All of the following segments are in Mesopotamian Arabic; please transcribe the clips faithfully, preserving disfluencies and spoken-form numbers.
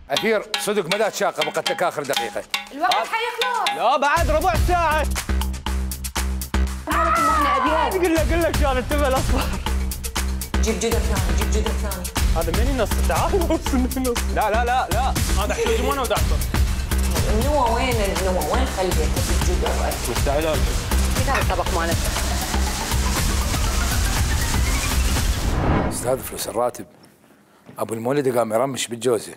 أثير صدق ما لا تشاقه بقت لك آخر دقيقة. الوقت حيخلص. لا بعد ربع ساعة. مالك إنه إحنا أبيض. قل لك قل لك كان التبع الأصفر. جيب جدر ثاني، جيب جدر ثاني. هذا مني نص، تعال نص مني نص. لا لا لا لا، هذا احتاج وانا ودعسه. النوى وين النوى؟ وين خليته الجدر؟ مستعجل. كيف هذا الطبق مالته؟ استاذ فلوس الراتب ابو المولد قام يرمش بالجوزه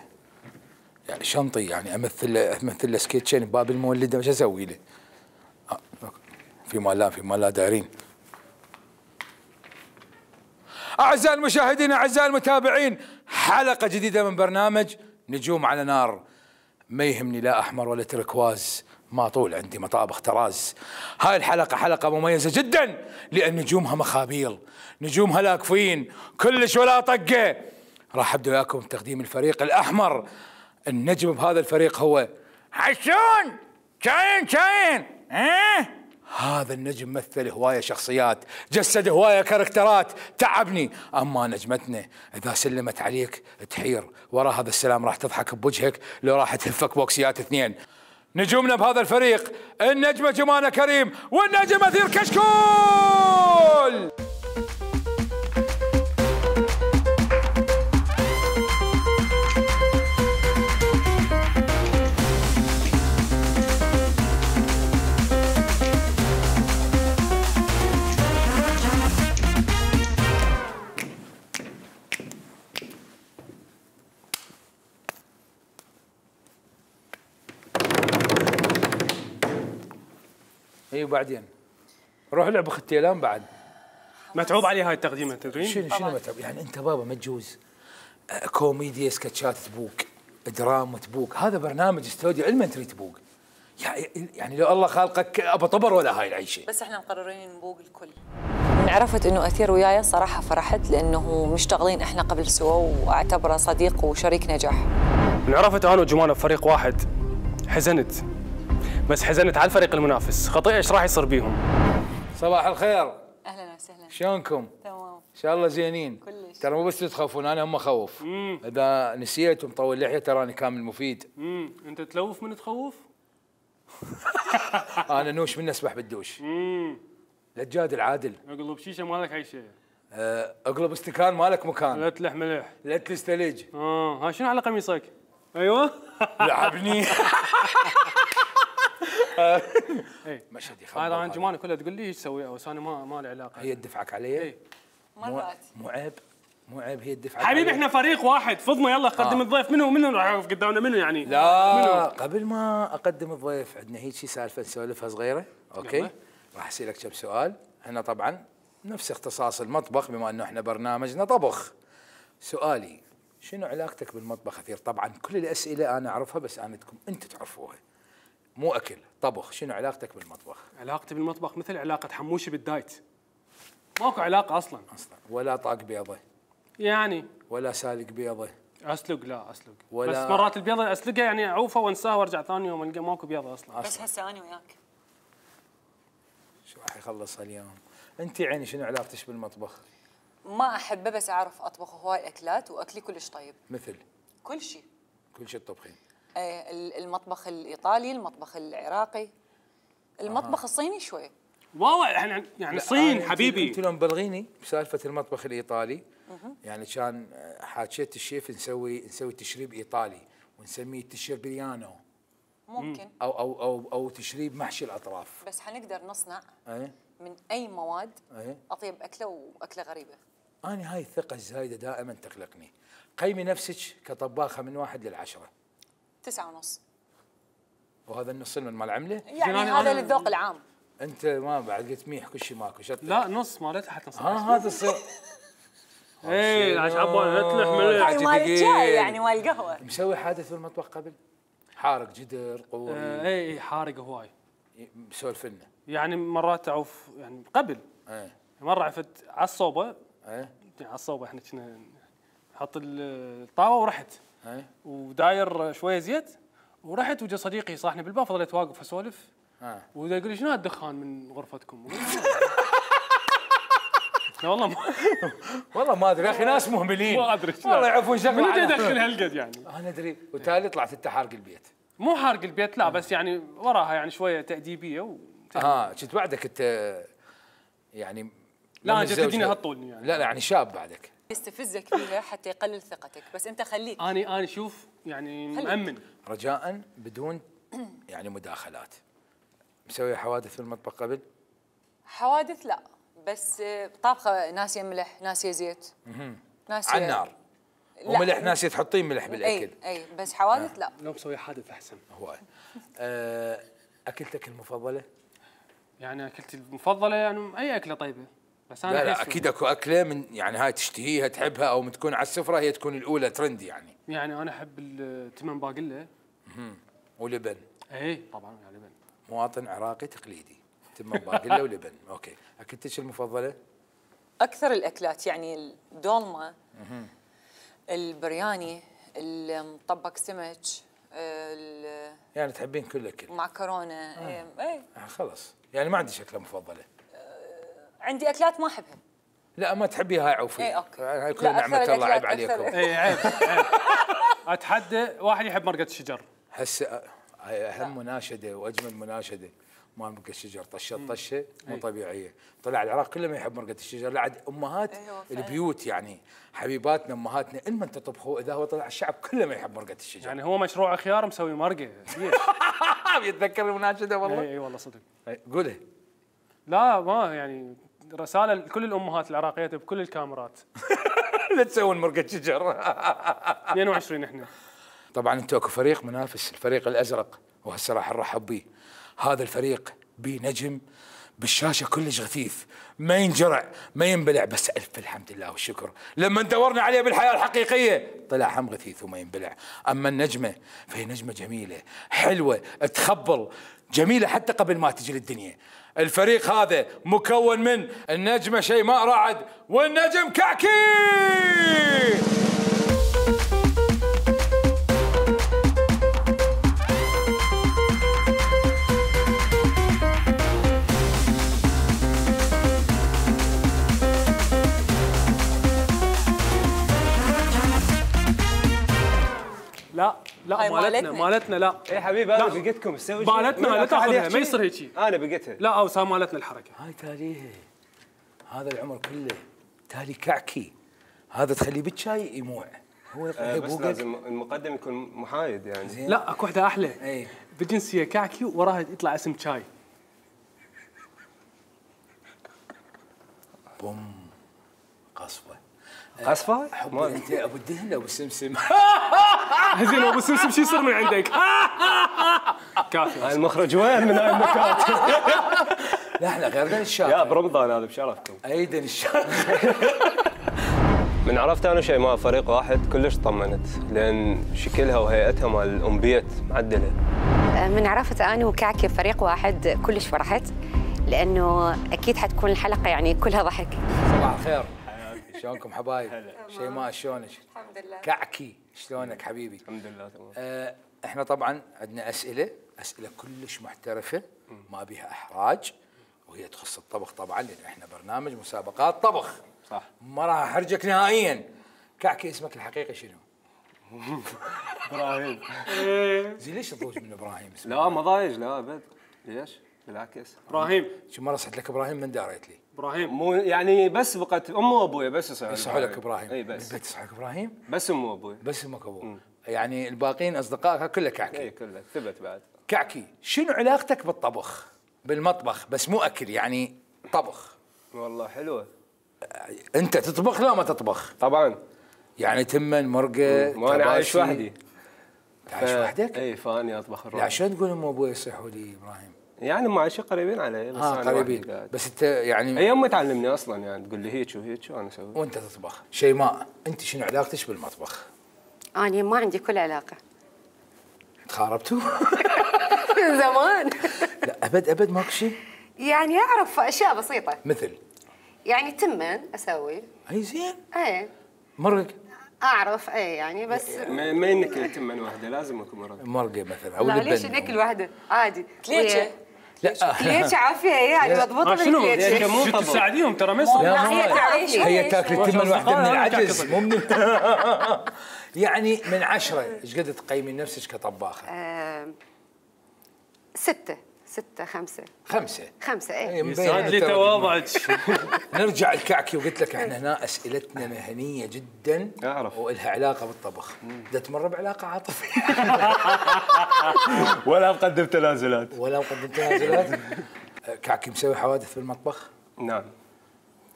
يعني شنطي يعني امثل امثل له سكتشين بباب المولد وش اسوي له؟ آه. في مال لا في مال لا دايرين. اعزائي المشاهدين اعزائي المتابعين حلقه جديده من برنامج نجوم على نار. ما يهمني لا احمر ولا تركواز، ما طول عندي مطابخ تراز. هاي الحلقه حلقه مميزه جدا لان نجومها مخابيل، نجومها لاكفين كلش ولا طقه. راح ابدا وياكم بتقديم الفريق الاحمر. النجم بهذا الفريق هو حسون شاين شاين. اه هذا النجم مثل هوايه شخصيات، جسد هوايه كاركترات، تعبني. اما نجمتنا اذا سلمت عليك تحير، ورا هذا السلام راح تضحك بوجهك لو راح تهفك بوكسيات اثنين. نجومنا بهذا الفريق النجمه جمانه كريم والنجم اثير كشكول. اي وبعدين روح لعب ختيلان بعد. متعوب علي هاي التقديمه تدرين؟ شنو شنو متعوب؟ يعني انت بابا ما تجوز كوميديا سكتشات تبوق، دراما تبوق، هذا برنامج استوديو المنتري تبوق. يعني لو الله خالقك ابو طبر ولا هاي العيشه. بس احنا مقررين نبوق الكل. من عرفت انه اثير وياي صراحه فرحت لانه مشتغلين احنا قبل سوا واعتبره صديق وشريك نجاح. من عرفت انا وجمانه بفريق واحد حزنت، بس حزنت على الفريق المنافس، خطيئه ايش راح يصير بيهم؟ صباح الخير. اهلا وسهلا. شلونكم؟ تمام. ان شاء الله زينين. كلش. ترى مو بس تخافون انا هم اخوف. اذا نسيت ومطول لحيه تراني كامل مفيد. امم انت تلوف من تخوف؟ انا نوش من اسبح بالدوش. امم لا تجادل عادل. اقلب شيشه مالك اي شيء. أه اقلب استكان مالك مكان. لا تلح ملح. لا تستلج. اه ها شنو على قميصك؟ ايوه لعبني. مشهد يخبر. هذا عن جمانه كلها تقول لي ايش تسوي بس انا ما ما لي علاقه. هي تدفعك علي؟ اي مرات. مو عيب مو عيب هي تدفعك حبيبي احنا فريق واحد، فضنا يلا قدم آه. الضيف. منو منو راح يوقف قدامنا منو يعني؟ لا منو؟ قبل ما اقدم الضيف عندنا هيك شي سالفه نسولفها صغيره. اوكي يلا. راح اسالك كم سؤال. احنا طبعا نفس اختصاص المطبخ بما انه احنا برنامجنا طبخ. سؤالي شنو علاقتك بالمطبخ اثير؟ طبعا كل الاسئله انا اعرفها بس انا بدكم انتم تعرفوها. مو اكل طبخ. شنو علاقتك بالمطبخ؟ علاقتي بالمطبخ مثل علاقه حموشي بالدايت، ماكو علاقه اصلا. اصلا ولا طاق بيضه يعني ولا سالق بيضه. اسلق لا اسلق ولا بس مرات البيضه اسلقها يعني اعوفها وانساها وارجع ثاني يوم القى ماكو بيضه اصلا. بس هسه انا وياك شو راح يخلص اليوم؟ انت عيني شنو علاقتك بالمطبخ؟ ما احبه بس اعرف اطبخ هواي اكلات واكلي كلش طيب. مثل كل شيء. كل شيء تطبخين؟ ايه المطبخ الايطالي، المطبخ العراقي، المطبخ آه. الصيني شوي. واو يعني يعني الصين حبيبي. انت لو مبلغيني بسالفه المطبخ الايطالي يعني كان حاكيت الشيف نسوي نسوي تشريب ايطالي ونسميه تشربيانو. ممكن او او او او تشريب محشي الاطراف. بس حنقدر نصنع اي من اي مواد اي اطيب اكله واكله غريبه. انا هاي الثقه الزايده دائما تقلقني. قيمي نفسك كطباخه من واحد للعشره. تسعة ونص. وهذا النص من مال عمله؟ يعني أنا- هذا أنا- للذوق العام. انت ما بعد قلت ميح كل شيء ماكو شط. لا نص مالتها حتى نص. ها هذا الصير. اي عشان عبالي نتلح ملح. هاي مال الشاي يعني مال القهوه. مسوي حادث بالمطبخ قبل؟ حارق جدر قوري اي اي حارق هواي. مسولف لنا. يعني مرات اعوف يعني قبل ايه مره عفت على الصوبه، ايه يعني على الصوبه احنا كنا نحط الطاوه ورحت ايه وداير شويه زيت ورحت وجا صديقي صاحني بالباب، فضليت واقف اسولف ها ودا يقول لي شنو هالدخان من غرفتكم؟ لا والله ما والله ما ادري يا اخي ناس مهملين ما ادري والله يعرفون شغله. من على- يدخل هالقد يعني. انا ادري وتالي طلعت انت حارق البيت. مو حارق البيت لا، بس يعني وراها يعني شويه تاديبيه و... اه كنت بعدك انت يعني لا من انت الزوج تديني هذا. هالطول يعني. لا لا يعني شاب بعدك. يستفزك فيها حتى يقلل ثقتك، بس انت خليك. اني اني شوف يعني خليك. مأمن. رجاء بدون يعني مداخلات. مسوي حوادث في المطبخ قبل؟ حوادث لا، بس طابخه ناسيه ملح ناسيه زيت ناسيه على النار. لا. وملح ناسيه تحطين ملح بالاكل. اي اي بس حوادث لا. لو مسوي حادث احسن. هواي. آه، اكلتك المفضله؟ يعني اكلتي المفضله يعني اي اكله طيبه، بس انا لا لا أحس- اكيد اكو اكله من يعني هاي تشتهيها تحبها او تكون على السفره هي تكون الاولى ترند يعني. يعني انا احب التمن باقله. ولبن. اي طبعا يعني لبن. مواطن عراقي تقليدي. تم باقله ولبن. اوكي. اكلتك المفضله؟ اكثر الاكلات يعني الدولمه، البرياني، المطبق سمك، ال- يعني تحبين كل اكل. المعكرونه. اي اي آه خلص يعني ما عندي شكله مفضله. عندي اكلات ما احبها. لا ما تحبيها هاي عوفي. إيه، أوكي. هاي لا، كلها نعمه أكثر الله عيب الأكلات عليكم. أكثر. اي عيب عيب. اتحدى واحد يحب مرقه الشجر. هسه هاي اهم مناشده واجمل مناشده مال مرقه الشجر. طشت طشه مو طبيعيه. طلع العراق كله ما يحب مرقه الشجر. لا عاد امهات أيوة فعلاً. البيوت يعني حبيباتنا امهاتنا المن تطبخوا اذا هو طلع الشعب كله ما يحب مرقه الشجر. يعني هو مشروع خيار مسوي مرقه. ليش؟ يتذكر المناشده والله. اي اي والله صدق. إيه، قولها. لا ما يعني رساله لكل الامهات العراقيات بكل الكاميرات. لا تسوون مرقه شجر. اثنين وعشرين احنا. طبعا انتم اكو فريق منافس الفريق الازرق وهسه راح نرحب به. هذا الفريق بيه نجم بالشاشه كلش غثيث ما ينجرع ما ينبلع، بس الف الحمد لله والشكر لما دورنا عليه بالحياه الحقيقيه طلع هم غثيث وما ينبلع. اما النجمه فهي نجمه جميله حلوه تخبل جميله حتى قبل ما تجي للدنيا. الفريق هذا مكون من النجمه شيماء رعد والنجم كعكي. لا لا هاي مالتنا مالتنا. مالتنا لا. ايه حبيبي انا لا. بقيتكم تسوي شيء مالتنا لا تاخذها ما يصير هيجي. انا بقيتها لا او صار مالتنا الحركه. هاي تاليه هذا العمر كله تالي كعكي هذا تخليه بالشاي يموع. هو آه هي بس بوقك. لازم المقدم يكون محايد يعني. زين. لا اكو وحده احلى. اي بجنسيه كعكي وراها يطلع اسم شاي. بوم قصفه. قصفه؟ حب ما- انت ابو الدهن ابو السمسم. زين ابو سمسم شو يصير من عندك؟ كافي. هاي المخرج وين من هاي النكات؟ لا احنا غير دن الشاطر. يا برمضان هذا بشرفكم. ايدن الشاطر. من عرفت انا شيماء فريق واحد كلش طمنت لان شكلها وهيئتها مال الام بيت معدله. من عرفت أنا وكعكي فريق واحد كلش فرحت لأنه أكيد حتكون الحلقة يعني كلها ضحك. صباح الخير. شلونكم حبايب؟ شيماء شلونك؟ الحمد لله. كعكي شلونك حبيبي؟ الحمد لله تمام. آه احنا طبعا عندنا اسئله اسئله كلش محترفه ما بها احراج وهي تخص الطبخ طبعا لان احنا برنامج مسابقات طبخ. صح. ما راح احرجك نهائيا. كعكي اسمك الحقيقي شنو؟ ابراهيم. زين ليش تضوج من ابراهيم اسمه؟ لا ما ضايج لا ابد. ليش؟ بالعكس. ابراهيم شو مره صحت لك ابراهيم من داريت لي. ابراهيم مو يعني بس بقت امي وابوي بس يصحوا يصحوا لك ابراهيم. اي بس بالبيت يصحوا لك ابراهيم؟ بس امي وابوي. بس امك ابوه. يعني الباقيين اصدقائك كله كعكي. اي كله ثبت بعد. كعكي شنو علاقتك بالطبخ؟ بالمطبخ بس مو اكل يعني طبخ. والله حلوه. انت تطبخ لا ما تطبخ؟ طبعا. يعني تمن مرقه. ما انا عايش وحدي. عايش وحدك؟ اي فاني اطبخ الروح. لا شلون تقول ام ابوي يصيحوا لي ابراهيم؟ يعني مع شيء قريبين علي بس اه أنا قريبين قاعد. بس انت يعني هي امي تعلمني اصلا يعني تقول لي هيك وهيك وانا اسوي. وانت تطبخ. شيماء انت شنو علاقتك بالمطبخ؟ انا ما عندي كل علاقه. تخاربتوا؟ من زمان. لا ابد ابد ماكو شيء؟ يعني اعرف اشياء بسيطه. مثل؟ يعني تمن اسوي. اي زين. ايه. مرق؟ اعرف ايه يعني بس. ما ما انك تمن واحده لازم اكون مرق. مرقه مثلا او لا لبن. ليش ناكل واحده عادي. كليتشه. لا كليتشه عافيه يعني مضبوطه شنو؟ بالكليتشه. مو شو طبخ. تساعديهم ترى ما يصير. لا هي ما تعرف هي تاكل التمن واحده من أصدقائها العجز كعكة. مو من يعني من عشرة ايش قد تقيمين نفسك كطباخه؟ آم، ستة ستة خمسة خمسة. خمسة هي ايه. مبينة يسعد لي ترى. تواضعك. نرجع الكعكي وقلت لك احنا هنا اسئلتنا مهنيه جدا أعرف. والها علاقه بالطبخ. بدها تمر بعلاقه عاطفيه ولا مقدم تنازلات. ولا مقدم تنازلات. كعكي مسوي حوادث بالمطبخ؟ نعم.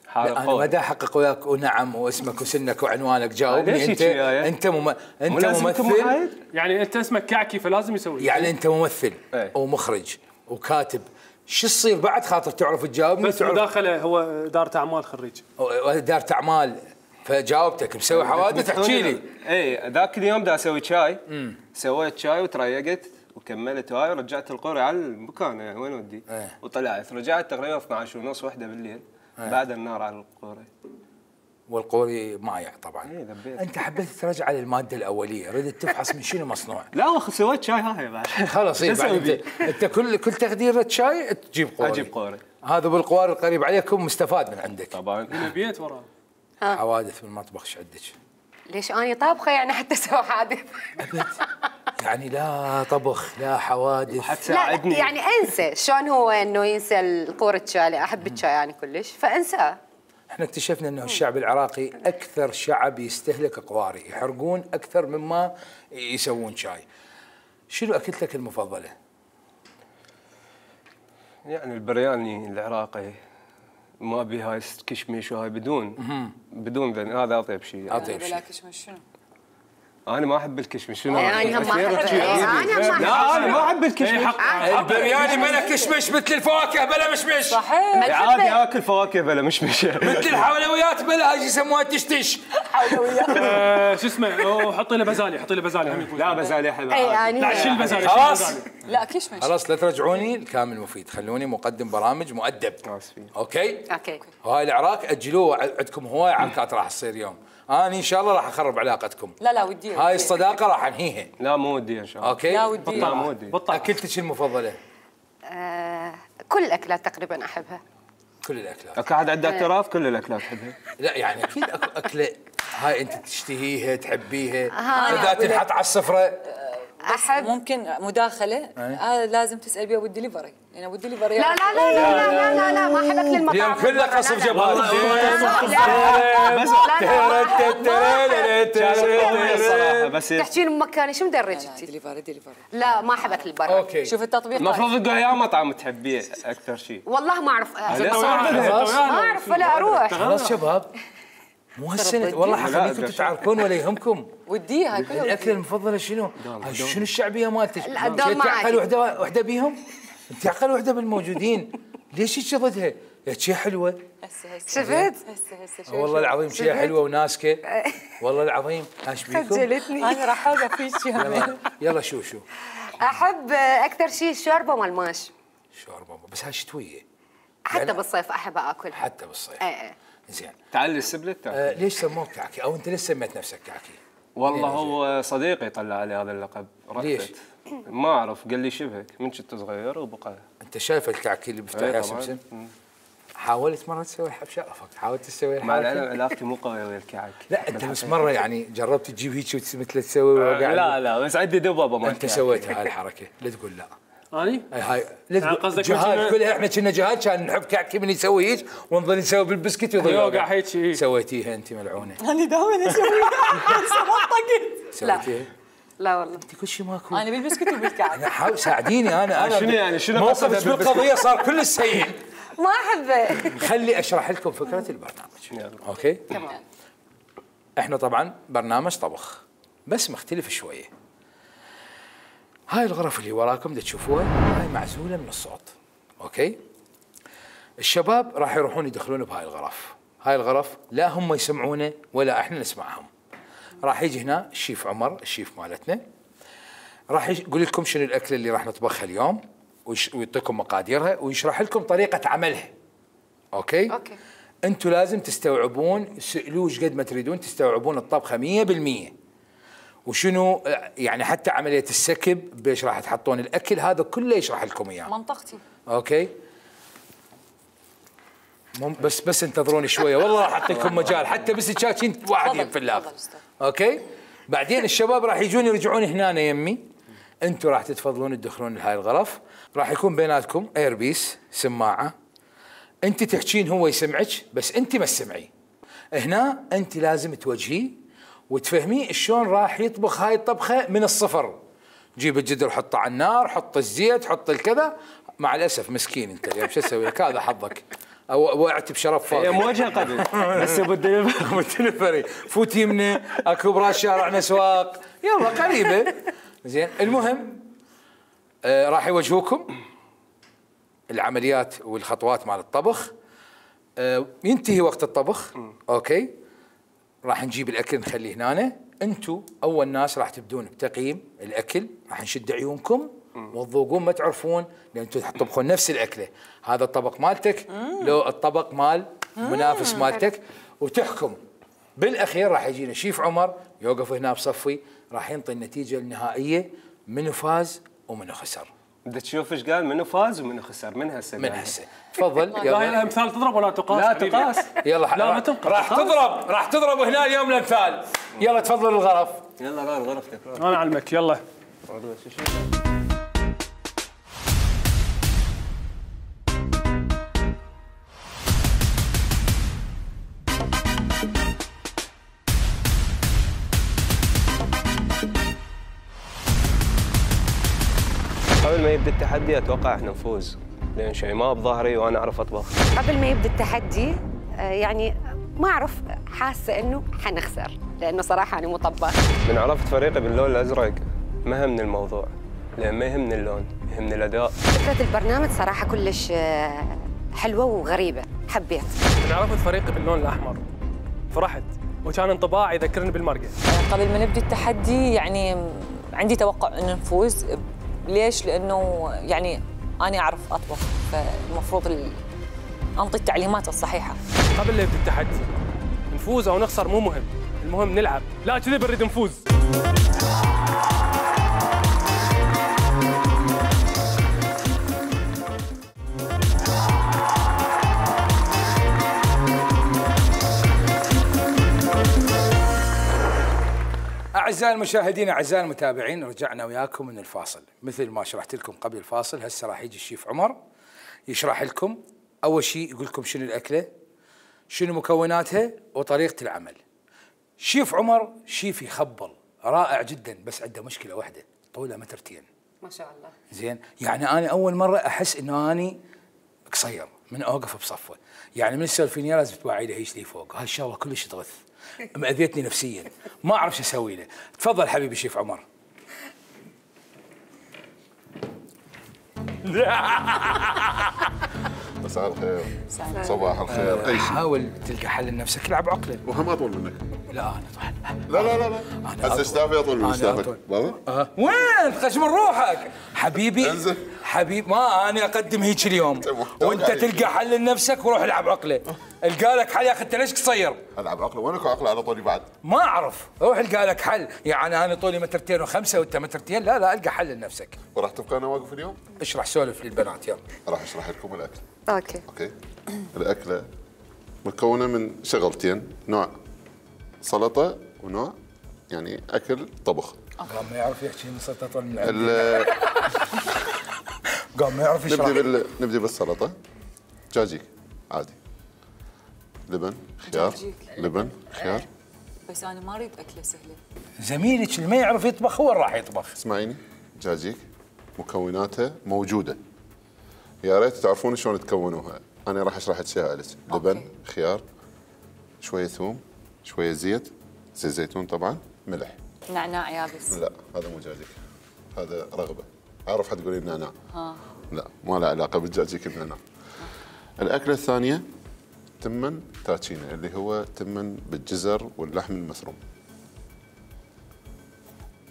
لا حارق انا ما قوي. دا احقق وياك ونعم واسمك وسنك وعنوانك جاوبني ليش انت هيك وياي؟ انت مم... انت مو لازم يكون ممثل محايد؟ يعني انت اسمك كعكي فلازم يسوي. يعني انت ممثل ايه. ومخرج وكاتب شو تصير بعد خاطر تعرف تجاوبني بس تعرف مداخله هو دارة اعمال خريج. دارة اعمال فجاوبتك مسوي حوادث احكي لي. اي ذاك اليوم دا اسوي شاي. سويت شاي وتريقت وكملت هاي ورجعت القوري على المكان يعني وين ودي. ايه. وطلعت رجعت تقريبا اثنعش ونص واحدة بالليل. بعد النار على القوري. والقوري مايع طبعا. ايه ذبيت. انت حبيت ترجع للماده الاوليه ردت تفحص من شنو مصنوع. لا وخ سويت شاي هاي بعد. خلاص اي شو بعد أسوي انت انت كل كل تخديره شاي تجيب قوري. اجيب قوري. هذا بالقوار القريب عليكم مستفاد من عندك. طبعا. من بيت وراه. حوادث بالمطبخ ايش عندك؟ ليش اني طابخه يعني حتى اسوي حادث؟ يعني لا طبخ لا حوادث. لا حتساعدني. يعني انسى شلون هو انه ينسى القورة الشاي. احب الشاي يعني كلش فانساه. احنا اكتشفنا انه الشعب العراقي اكثر شعب يستهلك قواري يحرقون اكثر مما يسوون شاي. شنو اكلتك المفضله؟ يعني البرياني العراقي ما بي هاي كشمش وهاي بدون بدون ذن هذا اطيب شيء. اطيب شيء. شنو؟ انا ما احب الكشمش شنو يعني هم ما أسير أحب- أشياء إيه، جديدة. أنا ما لا أحب. انا ما احب الكشمش. البرياني بلا كشمش مثل الفواكه بلا مشمش. صحيح. عادي اكل فواكه بلا مش مش مثل الحلويات بلا هاي يسموها تشتش. آه، شو اسمه وحطي له بزالي حطي له بزالي هم يفوز. لا بزالي احب اي يعني لا شيل بزالي خلاص. شيل بزالي. لا كشمش. خلاص لا ترجعوني الكامل مفيد خلوني مقدم برامج مؤدب. آسفين. اوكي. اوكي. وهاي العراق اجلوه عندكم هواي عركات راح تصير يوم. انا ان شاء الله راح اخرب علاقتكم. لا لا ودي. هاي الصداقه راح انهيها. لا مو ودي ان شاء الله. اوكي. لا ودي. لا مو ودي. بطل. اكلتك المفضله؟ آه كل الاكلات تقريبا احبها. كل الاكلات. اكو احد عنده اعتراف كل الاكلات احبها. لا يعني اكيد اكو اكله هاي انت تشتهيها تحبيها آه. اذا تنحط على السفره. احب. ممكن مداخله هذا لازم تسال بيها بالدليفري لان ابو الدليفري لا لا لا لا لا لا لا ما احب اكل المطاعم. اليوم كله قصف جبال. الصراحه بس تحكين مكاني شو مدرجتي؟ دليفري دليفري. لا ما احب اكل برا. اوكي شوف التطبيق. المفروض تقول يا مطعم تحبيه اكثر شيء. والله ما اعرف. خلاص ما اعرف ولا اروح. خلاص شباب مو هالسنه والله حخليكم تتعاركون ولا يهمكم. ودي هاي كلها الاكله المفضله شنو؟ هاي شنو الشعبيه مالتك؟ لا، الدوم انت ما عقل عادي. وحده وحده بيهم؟ انت عقل وحده بالموجودين ليش هيك ضدها؟ يا شي حلوه هسه هسه شفت؟ هسه هسه شوف والله العظيم شي حلوه وناسكه والله العظيم ايش بيكم؟ خجلتني. انا راح اوقف فيك يلا يلا شو شو احب اكثر شيء الشوربه مال ماش. شوربه بس هاي شتويه حتى يعني- بالصيف احب اكلها. حتى بالصيف. ايه ايه. زين تعلي السبلت تاكل. آه ليش سموك كعكي او انت ليش سميت نفسك كعكي؟ والله هو صديقي طلع علي هذا اللقب. ليش؟ رفت ما اعرف قال لي شبهك من كنت صغير وبقى. انت شايف الكعكي اللي بيفتح إيه يا طبعاً. سمسم؟ حاولت مره تسوي الحب شرفك حاولت تسوي مع الحركه؟ العلم علاقتي مو قويه ويا الكعك. لا انت بس مره يعني جربت تجيب هيك مثل تسوي وقاعد لا لا بس عندي دبابه ما انت سويت هاي الحركه لا تقول لا. اني هاي هاي لا يعني تقول قصدك جهاد كنا- كلها احنا كنا جهاد كان نحب كعكي من يسوي هيك ونظل نسوي بالبسكت ويظل يوقع هيك إيه. سويتيها انت ملعونه انا دائما اسوي بس ما طقت. سويتيها لا والله انت كل شيء ماكو. انا بالبسكوت وبالكعك. انا حاول ساعديني انا انا شنو يعني شنو موقفك بالقضيه صار كل سيء. ما احبه. خلي اشرح لكم فكره البرنامج. اوكي؟ تمام. احنا طبعا برنامج طبخ بس مختلف شويه. هاي الغرف اللي وراكم اللي تشوفوها هاي معزوله من الصوت. اوكي؟ الشباب راح يروحون يدخلون بهاي الغرف. هاي الغرف لا هم يسمعونه ولا احنا نسمعهم. راح يجي هنا الشيف عمر الشيف مالتنا راح يقول لكم شنو الاكله اللي راح نطبخها اليوم ويعطيكم مقاديرها ويشرح لكم طريقه عملها. اوكي؟ اوكي. انتم لازم تستوعبون سألوه قد ما تريدون تستوعبون الطبخه مية بالمية. وشنو يعني حتى عمليه السكب بايش راح تحطون الاكل هذا كله يشرح لكم اياه. منطقتي. اوكي؟ بس بس انتظروني شويه والله راح اعطيكم مجال حتى بس تشاكين واحد ينفلاغ. اوكي؟ بعدين الشباب راح يجون يرجعون هنا يمي. انتم راح تتفضلون تدخلون لهاي الغرف، راح يكون بيناتكم ايربيس سماعه. انت تحكين هو يسمعك بس انت ما تسمعي. هنا انت لازم توجهيه وتفهميه شلون راح يطبخ هاي الطبخه من الصفر. جيب الجدر حطه على النار، حط الزيت، حط الكذا. مع الاسف مسكين انت اليوم شو اسوي لك؟ هذا حظك. او وقعت بشرف فاضي. هي موجهه قبل بس بالدليفري فوت يمنا اكو براس شارعنا اسواق يلا قريبه. زين المهم آه راح يوجهوكم العمليات والخطوات مال الطبخ. آه ينتهي وقت الطبخ. اوكي؟ راح نجيب الاكل نخليه هنا. انتم اول ناس راح تبدون بتقييم الاكل. راح نشد عيونكم وتذوقون ما تعرفون لان انتم تطبخون نفس الاكله. هذا الطبق مالتك لو الطبق مال منافس مالتك وتحكم. بالاخير راح يجينا شيف عمر يوقف هنا بصفي راح ينطي النتيجه النهائيه منو فاز ومنو خسر. بدك تشوف ايش قال منو فاز ومنو خسر من هسه من هسه. تفضل. لا الامثال تضرب ولا تقاس؟ لا تقاس. يلا لا ما تنقص. راح تضرب راح تضرب هنا اليوم الامثال. يلا تفضل الغرف. يلا غار غرفتك. انا اعلمك يلا. قبل ما يبدا التحدي اتوقع احنا نفوز لان شيماء بظهري وانا اعرف اطبخ. قبل ما يبدا التحدي يعني ما اعرف حاسه انه حنخسر لانه صراحه انا مو طباخ. من عرفت فريقي باللون الازرق ما همني الموضوع لان ما يهمني اللون يهمني الاداء. فكره البرنامج صراحه كلش حلوه وغريبه حبيت. من عرفت فريقي باللون الاحمر فرحت وكان انطباع يذكرني بالمرقه. قبل ما نبدا التحدي يعني عندي توقع انه نفوز. ليش؟ لانه يعني انا اعرف اطبخ فالمفروض انطي التعليمات الصحيحه. قبل لا يبدا التحدي نفوز او نخسر مو مهم، المهم نلعب، لا كذي بنريد نفوز. أعزائي المشاهدين أعزائي المتابعين رجعنا وياكم من الفاصل. مثل ما شرحت لكم قبل الفاصل هسه راح يجي الشيف عمر يشرح لكم. أول شيء يقول لكم شنو الأكلة شنو مكوناتها وطريقة العمل. شيف عمر شيف يخبل رائع جدا بس عنده مشكلة واحدة طوله مترتين. ما شاء الله. زين يعني أنا أول مرة أحس إنه أني قصير من أوقف بصفه. يعني من السالفينية لازم توعي له هيش لي فوق. هاي الشغلة كلش تغث مأذيتني نفسيا ما اعرف شو اسوي له. تفضل حبيبي شيف عمر. مساء الخير صباح الخير. اي حاول تلقى حل لنفسك العب عقله. وهم اطول منك. لا انا طبعا لا لا لا لا هسه اشتافي اطول من اشتافك بابا. أه. وين خش من روحك حبيبي. انزل حبيب ما انا اقدم هيك اليوم وانت تلقى حل لنفسك وروح العب عقله. القى لك حل يا اخي انت ليش قصير؟ العب عقله وينك عقله على طولي بعد؟ ما اعرف روح القى لك حل. يعني انا طولي مترتين وخمسه وانت مترتين. لا لا القى حل لنفسك. وراح تبقى انا واقف اليوم؟ اشرح سولف للبنات يلا. راح اشرح لكم الاكل. اوكي. اوكي. الاكله مكونه من شغلتين نوع سلطه ونوع يعني اكل طبخ. قام ما يعرف يحكي من سلطه طول من ال قام ما يعرف يشرح. نبدي بال نبدي بالسلطه. دجاجيك عادي. لبن خيار لبن خيار بس انا ما اريد اكله سهله. زميلك اللي ما يعرف يطبخ هو اللي راح يطبخ. اسمعيني، دجاجيك مكوناتها موجوده، يا ريت تعرفون شلون تكونوها. انا راح اشرح اشياء لك. لبن، خيار، شويه ثوم، شويه زيت، زيت زيتون طبعا، ملح. نعناع يابس؟ لا هذا مو دجاجيك، هذا رغبه. اعرف حتقولين نعناع. ها لا ما له علاقه بالدجاجيك النعناع. الاكله الثانيه تمن تاتشينا، اللي هو تمن بالجزر واللحم المفروم.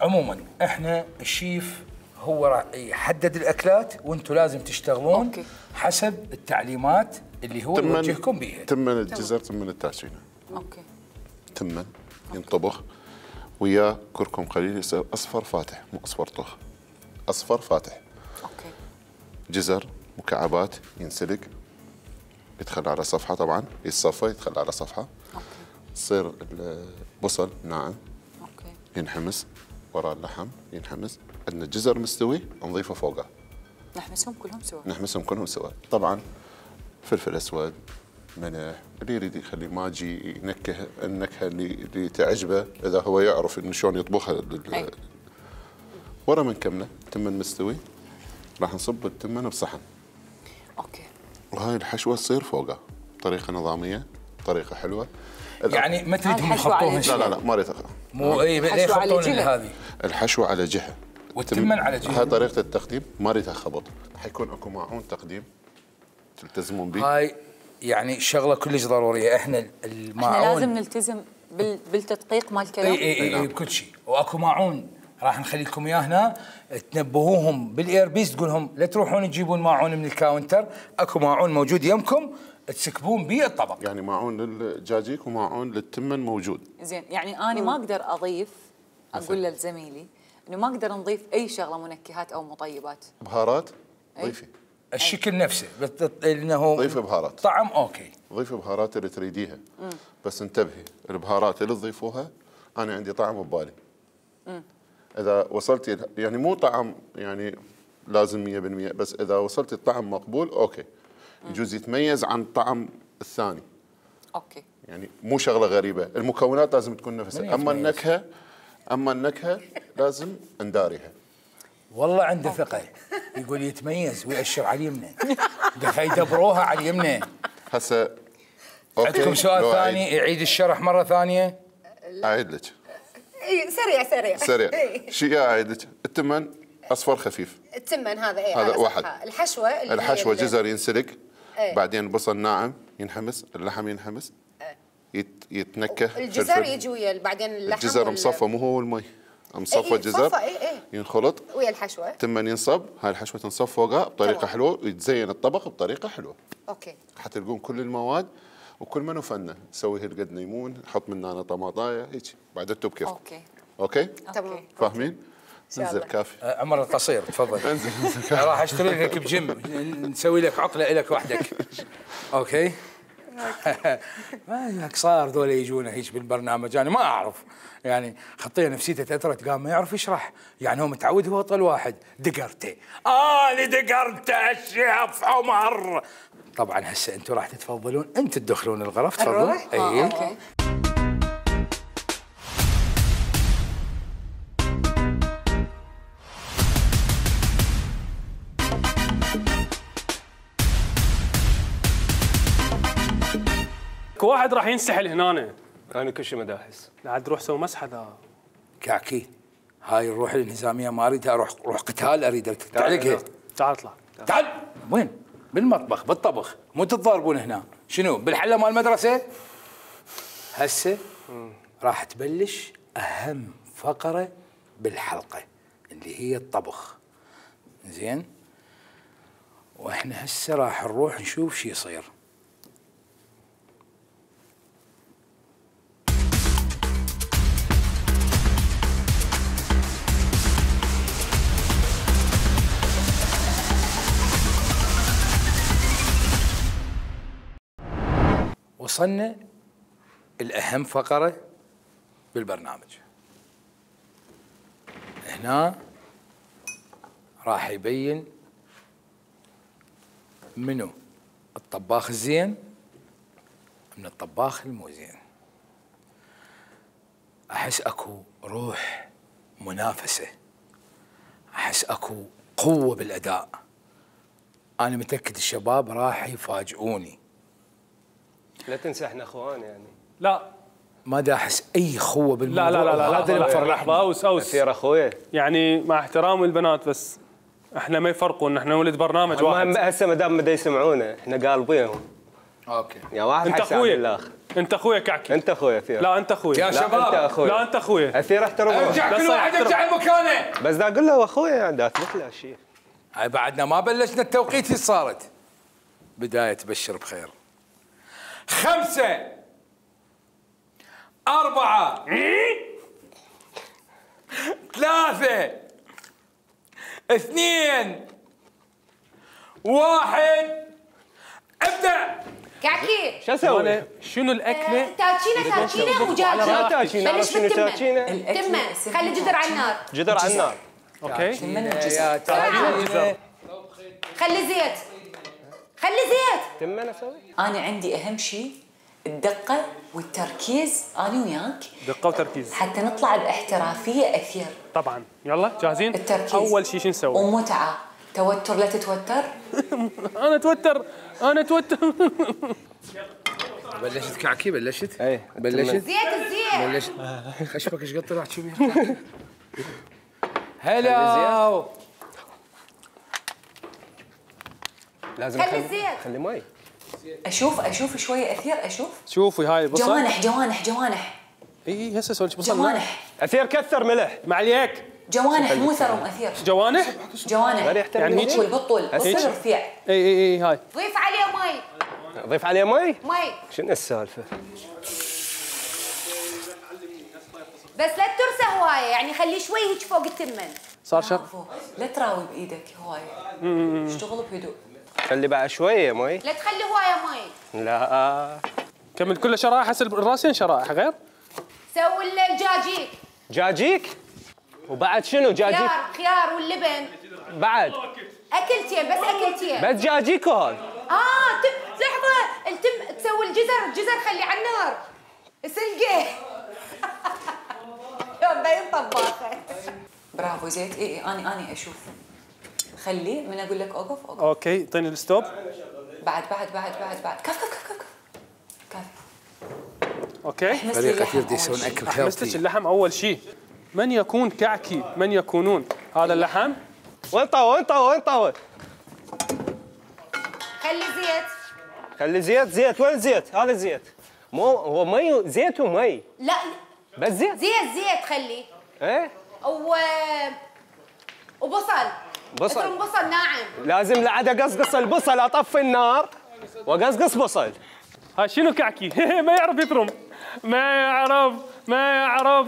عموما احنا الشيف هو راح يحدد الاكلات وانتم لازم تشتغلون أوكي. حسب التعليمات اللي هو يوجهكم بيها. تمن الجزر، تمن التاتشينا. اوكي. تمن ينطبخ وياه كركم قليل يصير اصفر فاتح، مو اصفر طخ، اصفر فاتح. اوكي. جزر مكعبات ينسلق، يدخل على صفحه، طبعا يتصفى يدخل على صفحه. اوكي. يصير البصل ناعم اوكي. ينحمس، وراء اللحم ينحمس. عندنا الجزر مستوي نضيفه فوقه، نحمسهم كلهم سوا. نحمسهم كلهم سوا. طبعا فلفل اسود، ملح، اللي يريد يخلي ماجي ينكه النكهه اللي اللي تعجبه، اذا هو يعرف انه شلون يطبخها. ورا من كمله تمن مستوي راح نصب التمن بصحن. اوكي. وهاي الحشوه تصير فوقه بطريقه نظاميه، طريقه حلوه. يعني ما تريدهم الحشوة على يحطوها لا شيء؟ لا لا ما اريد. مو اي لا الحشوة على يحطون جهة. هذه الحشوه على جهه والتمن على جهه. هاي طريقه التقديم، ما اريدها خبط. حيكون اكو معون تقديم تلتزمون به. هاي يعني شغله كلش ضروريه. احنا الماعون احنا لازم نلتزم بال... بالتدقيق مال الكلام. اي اي اي بكل شيء. واكو ماعون راح نخلي لكم اياه هنا، تنبهوهم بالايربيس، تقول لهم لا تروحون تجيبون ماعون من الكاونتر، اكو ماعون موجود يمكم تسكبون به الطبق. يعني ماعون للدجاجيك وماعون للتمن موجود. زين، يعني انا ما اقدر اضيف، اقول لزميلي انه ما اقدر نضيف اي شغله منكهات او مطيبات. بهارات ضيفي. الشكل نفسه بت- انه ضيفي بهارات. طعم اوكي. ضيفي بهارات اللي تريديها. بس انتبهي، البهارات اللي تضيفوها انا عندي طعم ببالي. اذا وصلتي يعني مو طعم يعني لازم مية بالمية، بس اذا وصلتي الطعم مقبول اوكي. يجوز يتميز عن الطعم الثاني. اوكي. يعني مو شغله غريبه، المكونات لازم تكون من نفسها. يتميز؟ اما النكهه اما النكهه لازم نداريها. والله عنده ثقه، يقول يتميز ويأشر على اليمنى. دخل يدبروها على اليمنى. هسه اوكي. عندكم سؤال لو ثاني يعيد الشرح مره ثانيه؟ اعيد لك اي سريع سريع سريع. إي. شيء اعيد لك. التمن اصفر خفيف، التمن هذا اي هذا على واحد. صفحة. الحشوه اللي الحشوه هي ال- جزر ينسلق، إيه. بعدين البصل ناعم ينحمس، اللحم ينحمس، يت الجزر يتنكه فلفل. يجي ويا بعدين اللحم الجزر وال- مصفى مو هو المي، مصفى إيه، الجزر صفى، إيه، إيه. ينخلط، ويا الحشوه. تمن ينصب، هاي الحشوه تنصب فوقها بطريقه تمام. حلوه ويتزين الطبق بطريقه حلوه. اوكي. حتلقون كل المواد وكل منو فنه. نسوي هالقد ليمون، نحط من هنا طماطايه هيك، بعد انتم بكيفكم. اوكي. اوكي؟ تمام. فاهمين؟ شاء انزل الله. كافي. آه، عمر القصير تفضل. انزل انزل كافي. راح اشتري لك بجيم، نسوي لك عقله لك وحدك. اوكي. ما لك صار ذولا يجونا هيك بالبرنامج، انا ما اعرف يعني خطيه نفسيته تاثرت، قام ما يعرف يشرح، يعني هو متعود هو طول واحد دقرته. انا دقرته الشيف عمر. طبعا هسه انتم راح تتفضلون انت تدخلون الغرف. تفضلوا. نروح؟ اي اوكي. واحد راح ينسحل هنا. انا كل شيء مداحس. لا تروح سوي مسحه ذا. كعكي هاي الروح الانهزاميه ما اريدها، اروح روح قتال اريد تعلقها. تعال اطلع. تعال. وين؟ بالمطبخ بالطبخ، مو تتضاربون هنا. شنو بالحله مال المدرسه؟ هسه راح تبلش اهم فقره بالحلقه اللي هي الطبخ. زين؟ واحنا هسه راح نروح نشوف شو يصير. وصلنا الأهم فقرة بالبرنامج. هنا راح يبين منو الطباخ الزين من الطباخ المو زين. احس اكو روح منافسه، احس اكو قوه بالاداء. انا متاكد الشباب راح يفاجئوني. لا تنسى احنا اخوان يعني. لا ما دا احس اي خوه بالموضوع. لا لا لا لا هذا اللي لحظه مفرحني. اوس اوس اثير اخويا. يعني مع احترامي البنات بس احنا ما يفرقوا ان احنا نولد برنامج واحد. المهم هسه ما دام بدا يسمعونا احنا قالبينهم. اوكي يا واحد انت حيساعد اخويا الاخر. انت اخويا كعكي. انت اخويا اثير. لا انت اخويا. يا لا شباب انت اخويا. لا انت اخويا. اثير احترم روحك. ارجع كل لا واحد صحيح. يرجع لمكانه. بس دا اقول له اخويا يعني دا اثبت له شيء. هاي بعدنا ما بلشنا التوقيت صارت. بداية تبشر بخير. خمسة أربعة ثلاثة اثنين واحد ابدأ. كعكي شو اسوي؟ شنو الاكله؟ تاتشينه تاتشينه ودجاجه. لا تاتشينه، بلش شنو بالتمه. تاتشينه؟ تمه خلي الجدر على النار. جدر على النار. اوكي يا تاجيل. خلي زيت خلي زيت. تم انا اسوي؟ انا عندي اهم شيء الدقه والتركيز، انا وياك دقه وتركيز حتى نطلع باحترافيه اثير. طبعا. يلا جاهزين؟ التركيز اول شيء شو نسوي؟ ومتعه. توتر لا تتوتر. انا اتوتر انا اتوتر. بلشت كعكي بلشت؟ اي بلشت؟ زيت الزيت. بلشت خشبك ايش قد طلعت شو بيها؟ هلا لازم خلي أخلي- الزيت. خلي مي. اشوف اشوف شويه اثير اشوف. شوفي هاي البصل. جوانح جوانح جوانح اي هسه سوي بصل. جوانح اثير كثر ملح. ما عليك. جوانح مو ثرم اثير. جوانح؟ جوانح غير يحترم يعني هيك؟ بالطول بالطول هيك؟ بالطول رفيع. اي اي اي هاي. ضيف عليه مي ضيف عليه مي. مي شنو السالفه؟ بس لا ترسى هوايه يعني خليه شوي هيك فوق التمن. صار شر. لا تراوي بايدك هواي. اشتغل بهدوء. خلي بعد شويه مي. لا تخلي هوايه مي. لا كمل كله شرائح هسه الراسين شرائح غير. سوي الجاجيك. جاجيك وبعد شنو جاجيك؟ خيار خيار واللبن. بعد اكلتين بس اكلتين. بس جاجيك وهذا. اه تم لحظه التم تسوي الجزر الجزر خليه على النار. سلقه. يوم باين طباخه. برافو زيت. اي اي اني اني اشوف. خلي من اقول لك اوقف اوقف. اوكي اعطيني الستوب. بعد بعد بعد بعد بعد كف كف كف كف كف. اوكي. احمس لي فريق اللحم كثير دي أول يسوون شي. اكل حمستك هيلثي. اللحم اول شيء. من يكون كعكي؟ من يكونون؟ هذا اللحم. وين طاوه وين طاوه وين طاوه؟ خلي زيت. خلي زيت زيت وين زيت؟ هذا زيت. مو هو مي زيت ومي. لا بس زيت. زيت زيت خلي. ايه و وبصل. بصل. افرم بصل ناعم. لازم لعد اقصقص البصل اطفي النار واقصقص بصل. هاي شنو كعكي؟ ما يعرف يفرم. ما يعرف ما يعرف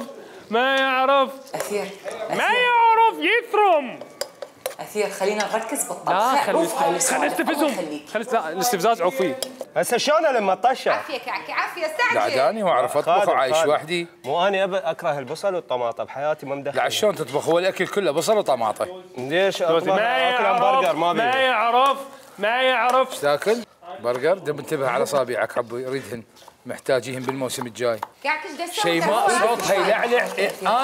ما يعرف اثير ما اثير يعرف يفرم. اثير خلينا نركز بالطبخ. لا خلي أوف، هاي خلي السؤال الأول نستفزهم. خليك. خلي لا الاستفزاز عوفي. هسه شلون لما طشر؟ عافيه كعكي عافيه استعجل. قعداني واعرف اطبخ خادم، وعايش خادم. وحدي. مو انا أب- اكره البصل والطماطم بحياتي ما مدخل. لا شلون تطبخ؟ هو الاكل كله بصل وطماطه. ليش اطبخ ما اكل همبرجر يعرف ما ما بيه. يعرف ما يعرف. تاكل برجر؟ دب انتبه على اصابعك حبي يريدهن محتاجيهم بالموسم الجاي. كعكي ايش دسوي؟ شيء ما صوتها يلعلع.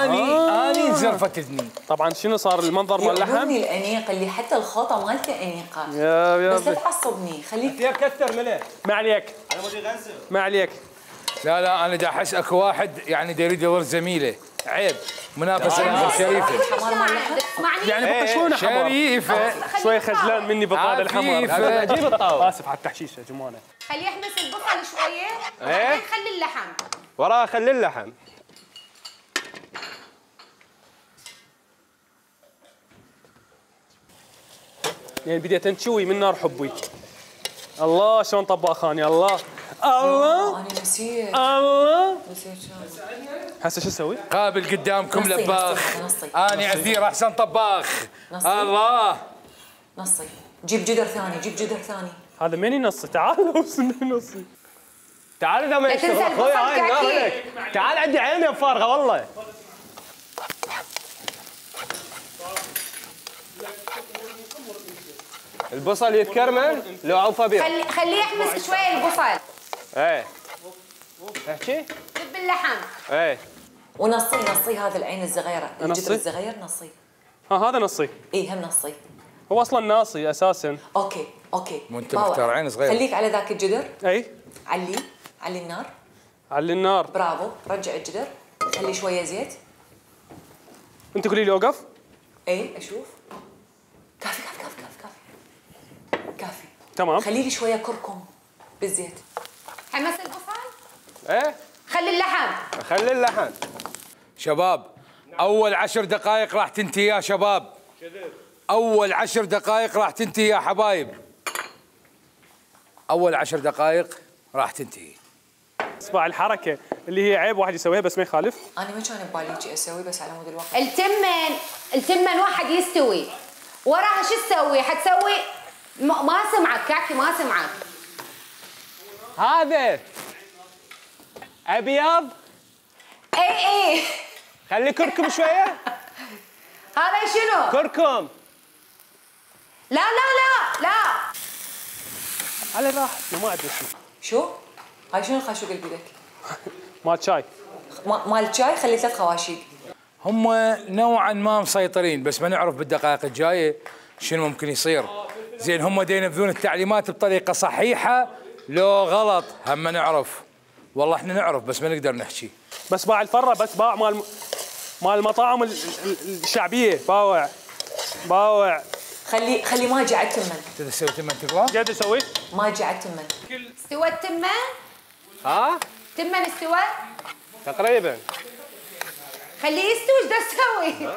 اني اني انزرفت اذني. طبعا شنو صار المنظر مال اللحم؟ يعجبني الانيق اللي حتى الخوطه مالته انيقه. يا يا بس لا تعصبني خليك. يا كثر ملح. ما عليك ما عليك. لا لا انا دا احس اكو واحد يعني دا يريد يورث زميله. عيب منافسه شريفه. حمار مال لحم. اسمعني يعني بطشونه حمار. شريفه شوي خجلان مني بهذا الحمار. عفيفة. اجيب الطاوه. اسف على التحشيش يا جمانه. خليه يحمس البصل شويه وبعدين خلي اللحم. وراه خلي اللحم. يعني بديت انشوي من نار حبي. الله شلون طباخاني. الله الله انا نسيت الله. نسيت شلون. هسه شو اسوي؟ قابل قدامكم نصي، لباخ. نصي، نصي. اني عثير احسن طباخ. نصي. الله نصي جيب جدر ثاني جيب جدر ثاني. هذا مني نصي. تعال وصلني نصي. تعال اذا ما لا تنسى يشتغل اخوي البصل هاي النار كعكي. لك. تعال عندي عيني فارغه والله. البصل يتكرمل لو عوفه بيه. خلي خليه يحمس شويه البصل. ايه احكي. دب اللحم. ايه ونصي نصي هذا العين الصغيره، أنصي؟ الجدر الصغير نصي. ها هذا نصي. اي هم نصي. هو اصلا ناصي اساسا. اوكي اوكي. مو انت مختار عين صغيره. خليك على ذاك الجدر. اي. علي علي النار. علي النار. برافو، رجع الجدر، خلي شويه زيت. انت قولي لي اوقف. اي اشوف. كافي كافي كافي كافي كافي. كافي. تمام. خلي لي شويه كركم بالزيت. حمس البصل؟ ايه خلي اللحم. خلي اللحم. شباب اول عشر دقائق راح تنتهي يا شباب. اول عشر دقائق راح تنتهي يا حبايب. اول عشر دقائق راح تنتهي. اسمع الحركه اللي هي عيب واحد يسويها بس ما يخالف. انا ما كان ببالي شيء اسوي بس على مود الوقت. التمن التمن واحد يستوي وراها شو تسوي؟ حتسوي ما, ما سمعك كاكي ما سمعك. هذا ابيض. اي اي خلي كركم شويه. هذا شنو؟ كركم. لا لا لا لا على راحتنا ما عندنا شيء. شو؟ هاي شنو الخاشوق اللي بيدك؟ مال شاي. ما- مال الشاي خلي ثلاث خواشيق. هم نوعا ما مسيطرين بس ما نعرف بالدقائق الجايه شنو ممكن يصير. زين هم دا ينفذون التعليمات بطريقه صحيحه لو غلط هم ما نعرف. والله احنا نعرف بس ما نقدر نحكي. بس باع الفره بس باع مال مال المطاعم ال- ال- الشعبيه باوع باوع. خلي خلي ماجي على التمن. تقدر تسوي تمن تقرا؟ جد اسوي؟ ماجي على التمن. استوى التمن؟ ها تمن استوى؟ تقريبا. خليه يستوي ايش تسوي؟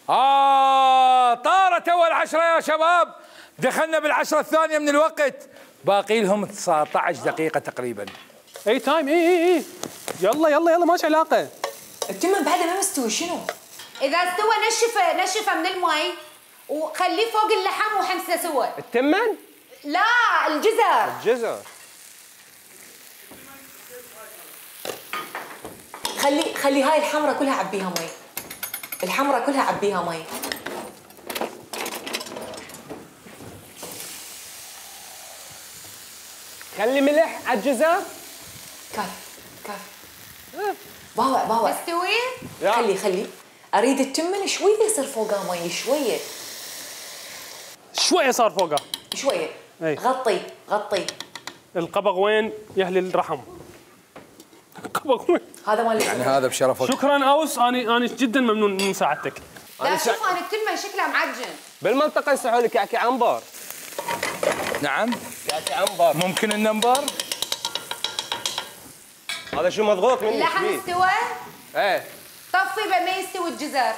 آه طارت أول عشرة يا شباب. دخلنا بالعشرة الثانية من الوقت. باقي لهم تسعة عشر دقيقة تقريبا. اي تايم اي اي اي يلا يلا يلا ماشي علاقه. التمن بعده ما مستوي شنو؟ اذا استوى نشفه نشفه من المي وخليه فوق اللحم وحمسه سوى. التمن. لا الجزر. الجزر. خلي خلي هاي الحمرة كلها عبيها مي. الحمرة كلها عبيها مي. خلي ملح على الجزر. كافي كافي. باوع باوع. تستوي؟ خلي خلي. اريد التمن شويه يصير فوقها مي شويه. شويه صار فوقها. شويه. أي. غطي غطي. القبغ وين يا اهل الرحم؟ القبغ وين؟ هذا مال يعني هذا بشرفك. شكرا اوس انا انا جدا ممنون من مساعدتك. لا شوف انا التمن شكلها معجن. بالمنطقه يصحوا لك كعكي عنبر. نعم كعكي عنبر. ممكن النمبر. هذا شو مضغوط مني. اللحم شبيه؟ استوى؟ ايه. طفي بما يستوي الجزر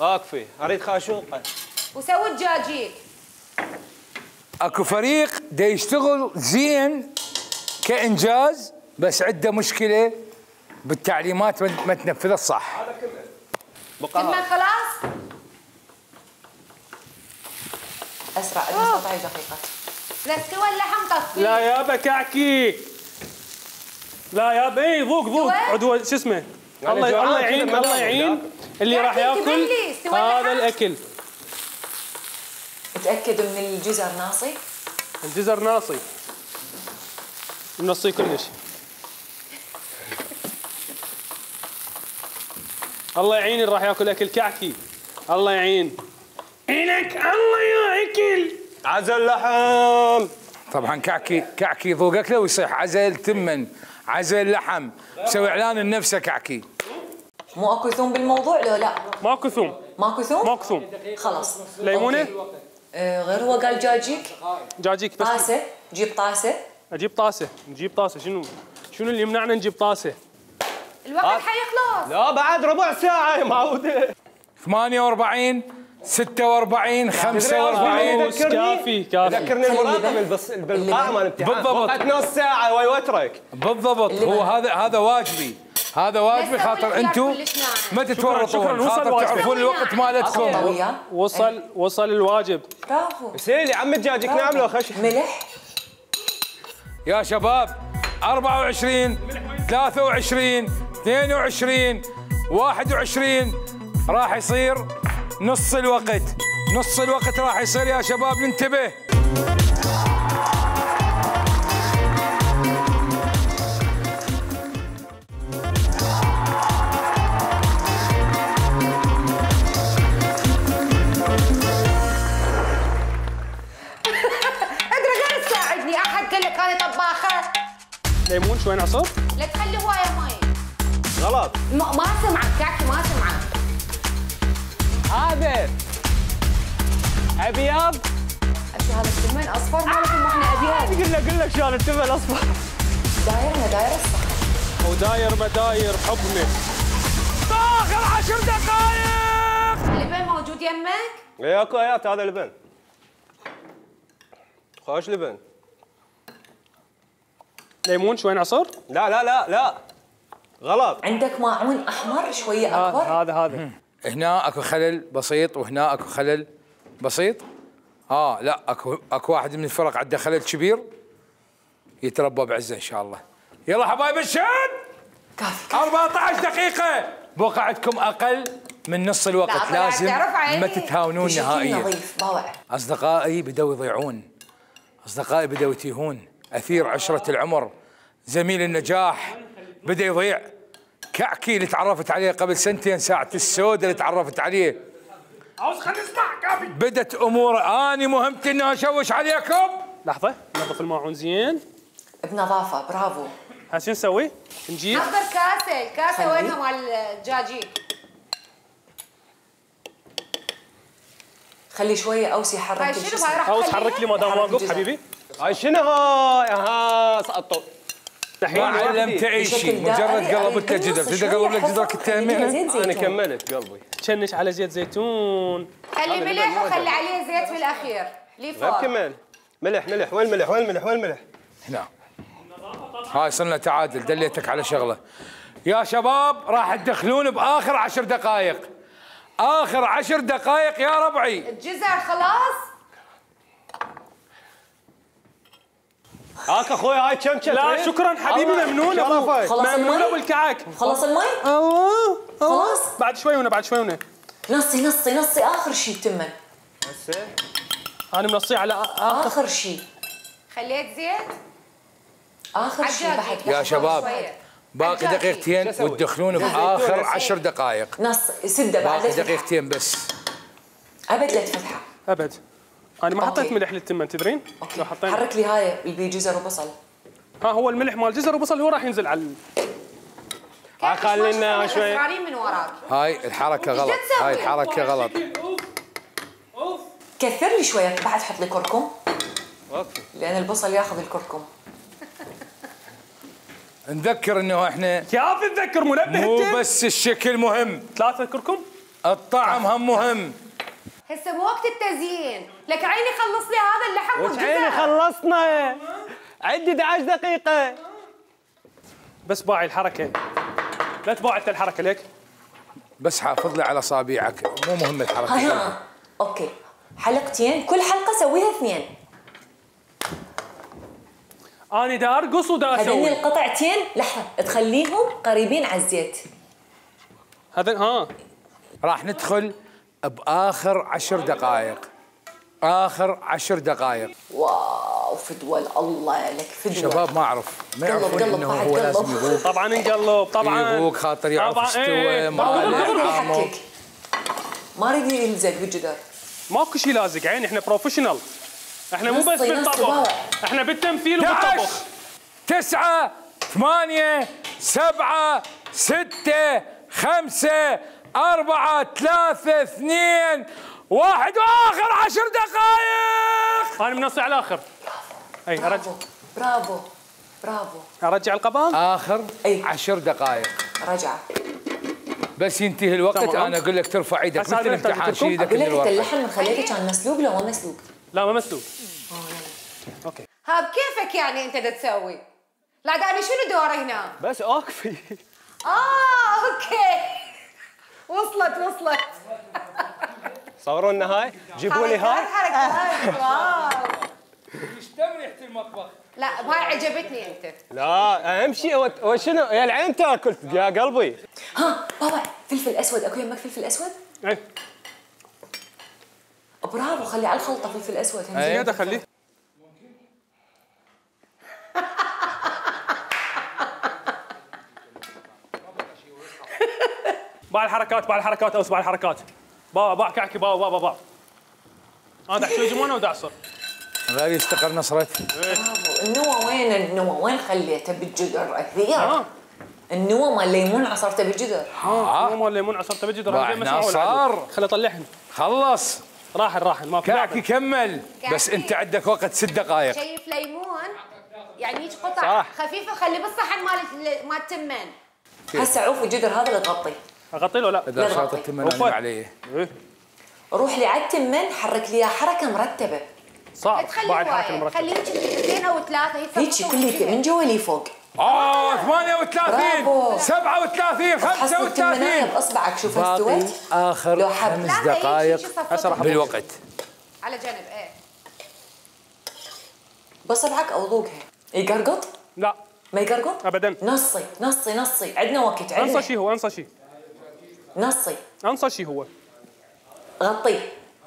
اكفي اريد خاشوقه. وسوي الدجاجيل. اكو فريق دا يشتغل زين كانجاز بس عنده مشكله بالتعليمات ما تنفذها صح. تمن خلاص؟ اسرع عندنا سبعة عشر دقيقه. لا استوى اللحم طفي. لا يابا كعكي. لا يابا اي ذوق ذوق عدوى شو اسمه. يعني الله جوعان الله كذا يعين ما الله دام يعين اللي راح كعكي ياكل تبلي، استوى هذا اللحم. الاكل. تاكد من الجزر ناصي. الجزر ناصي. منصي كلش. الله يعين اللي راح ياكل اكل كعكي. الله يعين. عينك الله يا اكل. عزل لحم. طبعا كعكي كعكي ذوق اكله ويصيح عزل تمن عزل لحم. مسوي اعلان لنفسه كعكي. مو اكو ثوم بالموضوع لو لا؟ ماكو ثوم. ماكو ثوم؟ ماكو ثوم. خلاص. ليمونه؟ أوكي. آه غير هو قال جاجيك. جاجيك بس. طاسه جيب طاسه. اجيب طاسه نجيب طاسه شنو شنو اللي يمنعنا نجيب طاسه؟ الوقت حيخلص. لا بعد ربع ساعه يا معوده. ثمانية وأربعين ستة وأربعين خمسة وأربعين. كافي كافي. ذكرني المراقب البص- بالقائمه مال الامتحان. بالضبط. وقت نص ساعه ويوترك. بالضبط هو هذا هذا واجبي. هذا واجبي بس خاطر أول انتم خيار كلش ناعم. ما شكراً، تتورطون وصل خاطر الواجب. تعرفون الوقت مالتكم. وياه. وصل وصل الواجب. برافو. سيلي عم دجاجك نعم لو خش. ملح. يا شباب أربعة وعشرين ثلاثة وعشرين اثنين وعشرين واحد وعشرين راح يصير نص الوقت. نص الوقت راح يصير يا شباب ننتبه. ليمون شوي نعصر. لا تخلي هوايه مي. غلط. ما ما سمعك كعكي ما سمعك. هذا ابيض. اشو هذا التمن اصفر مالكم واحنا ابيض. قل لك قل لك شلون التمن الاصفر. داير ما داير الصح. وداير ما داير حبني. اخر عشر دقائق. اللبن موجود يمك؟ اي اكو ايات هذا لبن. خوش لبن. ليمون شوي نعصر. لا لا لا لا غلط. عندك ماعون احمر شويه هذا اكبر. هذا هذا. هنا اكو خلل بسيط وهنا اكو خلل بسيط. اه لا اكو اكو واحد من الفرق عنده خلل كبير يتربى بعزه ان شاء الله. يلا حبايب الشد. كافي. أربعة عشر دقيقة بوقعتكم اقل من نص الوقت. لازم ما تتهاونون نهائيا. نظيف باوع. اصدقائي بدأوا يضيعون. اصدقائي بدأوا يتيهون. اثير عشرة العمر زميل النجاح بدأ يضيع. كعكي اللي تعرفت عليه قبل سنتين ساعة السوداء اللي تعرفت عليه. عاوز خليني اسمع كافي. بدت امور اني مهمتي اني اشوش عليكم. لحظة ننظف الماعون زين. بنظافه برافو. هسه شو نسوي؟ نجيب حضر كاسه، الكاسه وينها مال الدجاجين؟ خلي شويه اوسي حرك. هاي شنو هاي راح عاوز حرك لي ما دام واقف حبيبي. هاي شنو هاي؟ ها سقطوا. ما علمت اي شيء مجرد قلبت لك جدر. تقدر تقلب لك جدرك التهمين. انا كملت قلبي. تشنش على زيت زيتون. خلي ملح وخلي عليه زيت بالاخير. لي غير فوق. كمل. ملح ملح وين الملح وين الملح وين الملح؟ هنا. هاي صرنا تعادل دليتك على شغله. يا شباب راح تدخلون باخر عشر دقائق. اخر عشر دقائق يا ربعي. الجزر خلاص؟ هاك اخوي هاي كم كم. لا شكرا حبيبي ممنون ابو. خلص ممنون المي؟ ابو الكعك. خلص المي؟ اوه خلاص؟ بعد شوي هنا بعد شوي هنا. نصي نصي نصي اخر شيء تمن. هسه انا منصيه على اخر. اخر شيء. خليت زيت؟ اخر شيء عجاجي. بعد. يا شباب شوية. باقي عجاجي. دقيقتين وتدخلون باخر عشر دقائق. نص سده بعد. باقي دقيقتين بس. ابد لا تفتحها. ابد. انا ما حطيت أوكي. ملح للتمن تدرين؟ اوكي. لو حطينا حرك لي هاي اللي بيه جزر وبصل. ها هو الملح مال جزر وبصل هو راح ينزل على ال- هاي خلينا شوي. صغارين من وراك. هاي الحركه إيش غلط. تسوي؟ هاي الحركه غلط. كثر لي شويه بعد حط لي كركم اوكي. لان البصل ياخذ الكركم. نذكر انه احنا كيف تذكر منبه مو التم؟ بس الشكل مهم، ثلاثة كركم. الطعم هم مهم. هسه مو وقت التزيين، لك عيني خلص لي هذا اللحم وش عيني والجزر. خلصنا. عندي احد عشر دقيقة. بس باعي الحركة. لا تباع انت الحركة ليك. بس حافظ لي على اصابعك، مو مهم هاي الحركه. ها اوكي. حلقتين كل حلقه سويها اثنين. انا دا ارقص ودا هذني اسوي. القطعتين لحظه تخليهم قريبين على الزيت. هذا ها راح ندخل باخر عشر دقائق. اخر عشر دقائق. واو فدوى الله لك فدوى. شباب ما اعرف ما قلب- يعرفون قلب انه واحد هو قلب. لازم يذوق. طبعا نقلب طبعا. يذوق خاطر يعرف طبعاً، استوى إيه. ما دغري دغري له يحكك. طعمه. ما اريد يلزق بالجدار. ماكو شيء لازق عيني احنا بروفيشنال. احنا مو بس نصي- نصي بالطبخ. باوع. احنا بالتمثيل احد عشر وبالطبخ. تسعة ثمانية سبعة ستة خمسة أربعة ثلاثة اثنين واحد وآخر عشر دقائق. انا منصي على الاخر. اي ارجع برافو برافو برافو. ارجع القبض. آخر أي. عشر دقائق. رجعه. بس ينتهي الوقت تمام. أنا أقول لك ترفع إيدك هسا مثل هذا الامتحان تحتاج شيل إيدك اقول من لك انت الورقة. اللحم من خليته كان مسلوق لو ما مسلوق؟ لا ما مسلوق. اوكي. ها بكيفك يعني انت دا تسوي؟ لا دا انا شنو دوري هنا؟ بس اوقفي. اه اوكي. وصلت وصلت. صوروا لنا هاي. جيبوا لي هاي. حركات واو. يشتم ريحة المطبخ. لا هاي عجبتني انت. لا اهم شيء هو- هو شنو يا العين تاكل يا قلبي. ها بابا فلفل اسود اكو يمك فلفل اسود؟ اي برافو خلي على الخلطه فلفل اسود. هم زياده خليه. باع الحركات باع الحركات اوس باع الحركات. باع باع كعكي باع باع باع. انا دع شوي جمونه ودعصر. غير يستقر نصرت. النوى وين النوى وين خليته بالجدر اثير؟ النوى مال الليمون عصرته بالجدر. اه النوى مال الليمون عصرته بالجدر. راح صار خلي اطلعهن. خلص. راحل راحل ما في. كعكي كمل بس انت عندك وقت ست دقائق. شايف ليمون يعني هيك قطع صح. خفيفه خلي بالصحن مال مال التمان. هسه عوف الجدر هذا اللي تغطيه. اغطي له لا؟ اذا شاط التمن انام عليه. روح لي على التمن حرك لي حركه مرتبه. صعب. بعد حركه مرتبه. خليه اثنين او ثلاثه هيك كله من جوا لي فوق. اه ثمانية وثلاثين سبعة وثلاثين خمسة وثلاثين باصبعك شوف استوت. اخر خمس دقائق بالوقت. على جنب ايه باصبعك او ذوقها. يقرقط؟ لا ما يقرقط؟ ابدا. نصي نصي نصي عندنا وقت عندنا. انصى شيء هو انصى شيء. نصي انصى شيء هو. غطيه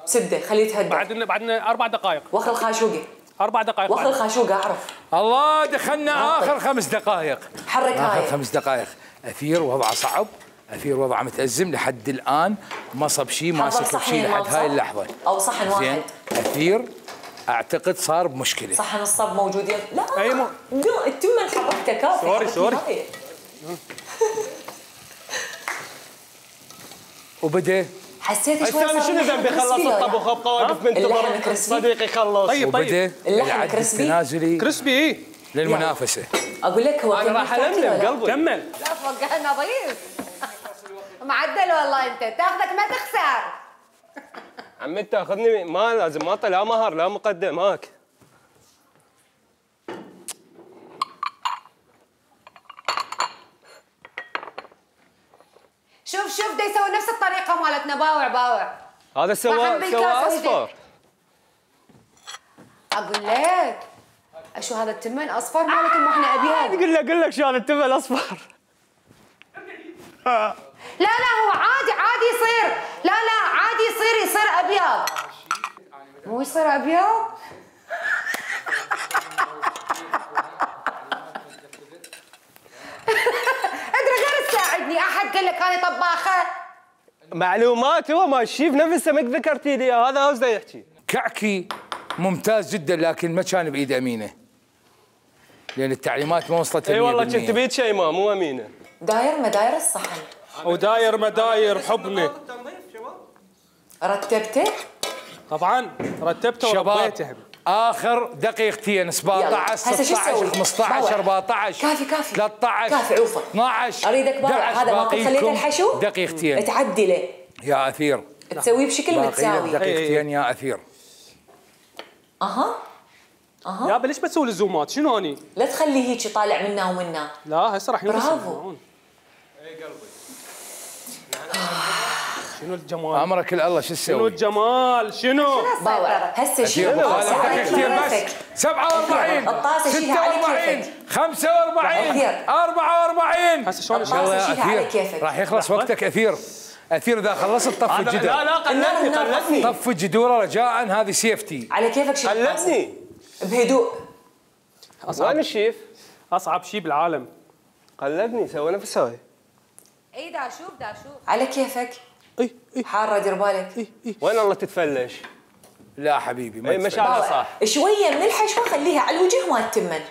سده خليه يتهدى. بعدنا بعدنا اربع دقائق. وخر الخاشوقه. اربع دقائق. وخر الخاشوقه اعرف. الله دخلنا اخر خمس دقائق. حرك هاي. اخر خمس دقائق. اثير وضعه صعب. اثير وضعه متازم لحد الان ما صب شيء ماسك بشيء لحد هاي اللحظه. او صحن واحد. اثير اعتقد صار بمشكله. صحن الصب موجود يا لا اي مو التمن حركته كافي. سوري سوري. وبدا حسيت شوي هسه شنو ذنبي خلص الطبخ ابقى واقف بنتظر صديقي يخلص. طيب طيب اللحم كريسبي التنازلي كريسبي ايه للمنافسه. اقول لك هو انا راح الملم قلبي. كمل. لا فوقها نظيف. معدل والله انت تاخذك ما تخسر. عمي تاخذني ما لازم ما لا مهر لا مقدم هاك. شوف شوف دا يسوي نفس الطريقه مالتنا باوع باوع. هذا سوى سوى اصفر. اقول لك اشو هذا التمن اصفر مالكم واحنا ابيض. قل لك قل لك شو هذا التمن اصفر. لا لا هو عادي عادي يصير. لا لا عادي يصير يصير ابيض. مو يصير ابيض؟ ادري غير تساعدني احد قال لك انا طباخه. معلومات هو ما الشيف نفسه ما ذكرتي لي هذا قصده يحكي. كعكي ممتاز جدا لكن ما كان بايد امينه. لان التعليمات ما وصلت. اي والله كنت بيد شيماء مو امينه. داير مداير الصحن. وداير مداير حبني. رتبته؟ طبعا رتبته وربيته. اخر دقيقتين سبعطعش ستطعش خمسطعش أربعطعش كافي كافي ثلاثطعش كافي عوفه اثناعش اريدك باوع هذا ما قد خليت الحشو دقيقتين تعدله يا اثير تسويه بشكل متساوي. دقيقتين يا اثير. اها اها يابا ليش بتسوي الزومات شنو اني؟ لا تخليه هيك طالع منا ومنا. لا هسه راح ينقص. برافو. اي قلبي. شنو الجمال؟ امرك الله شو تسوي؟ شنو الجمال؟ شنو؟ باوع هسه شيل دقيقتين بس سبعة وأربعين ستة وأربعين خمسة وأربعين أربعة وأربعين. هسه شلون شيلها على كيفك. راح يخلص وقتك اثير. اثير اذا خلصت طف الجدر. لا لا قلدني قلدني. طف الجدوره رجاء هذه سيفتي. على كيفك شيل. قلدني بهدوء. وين الشيف؟ اصعب شيء بالعالم. قلدني سوى نفس هاي. اي دا شوف دا شوف. على كيفك. اي اي حاره دير بالك. اي اي وين الله تتفلش؟ لا حبيبي ما اي ما شاء الله صح. شويه من الحشوه خليها على الوجه ما تتمن.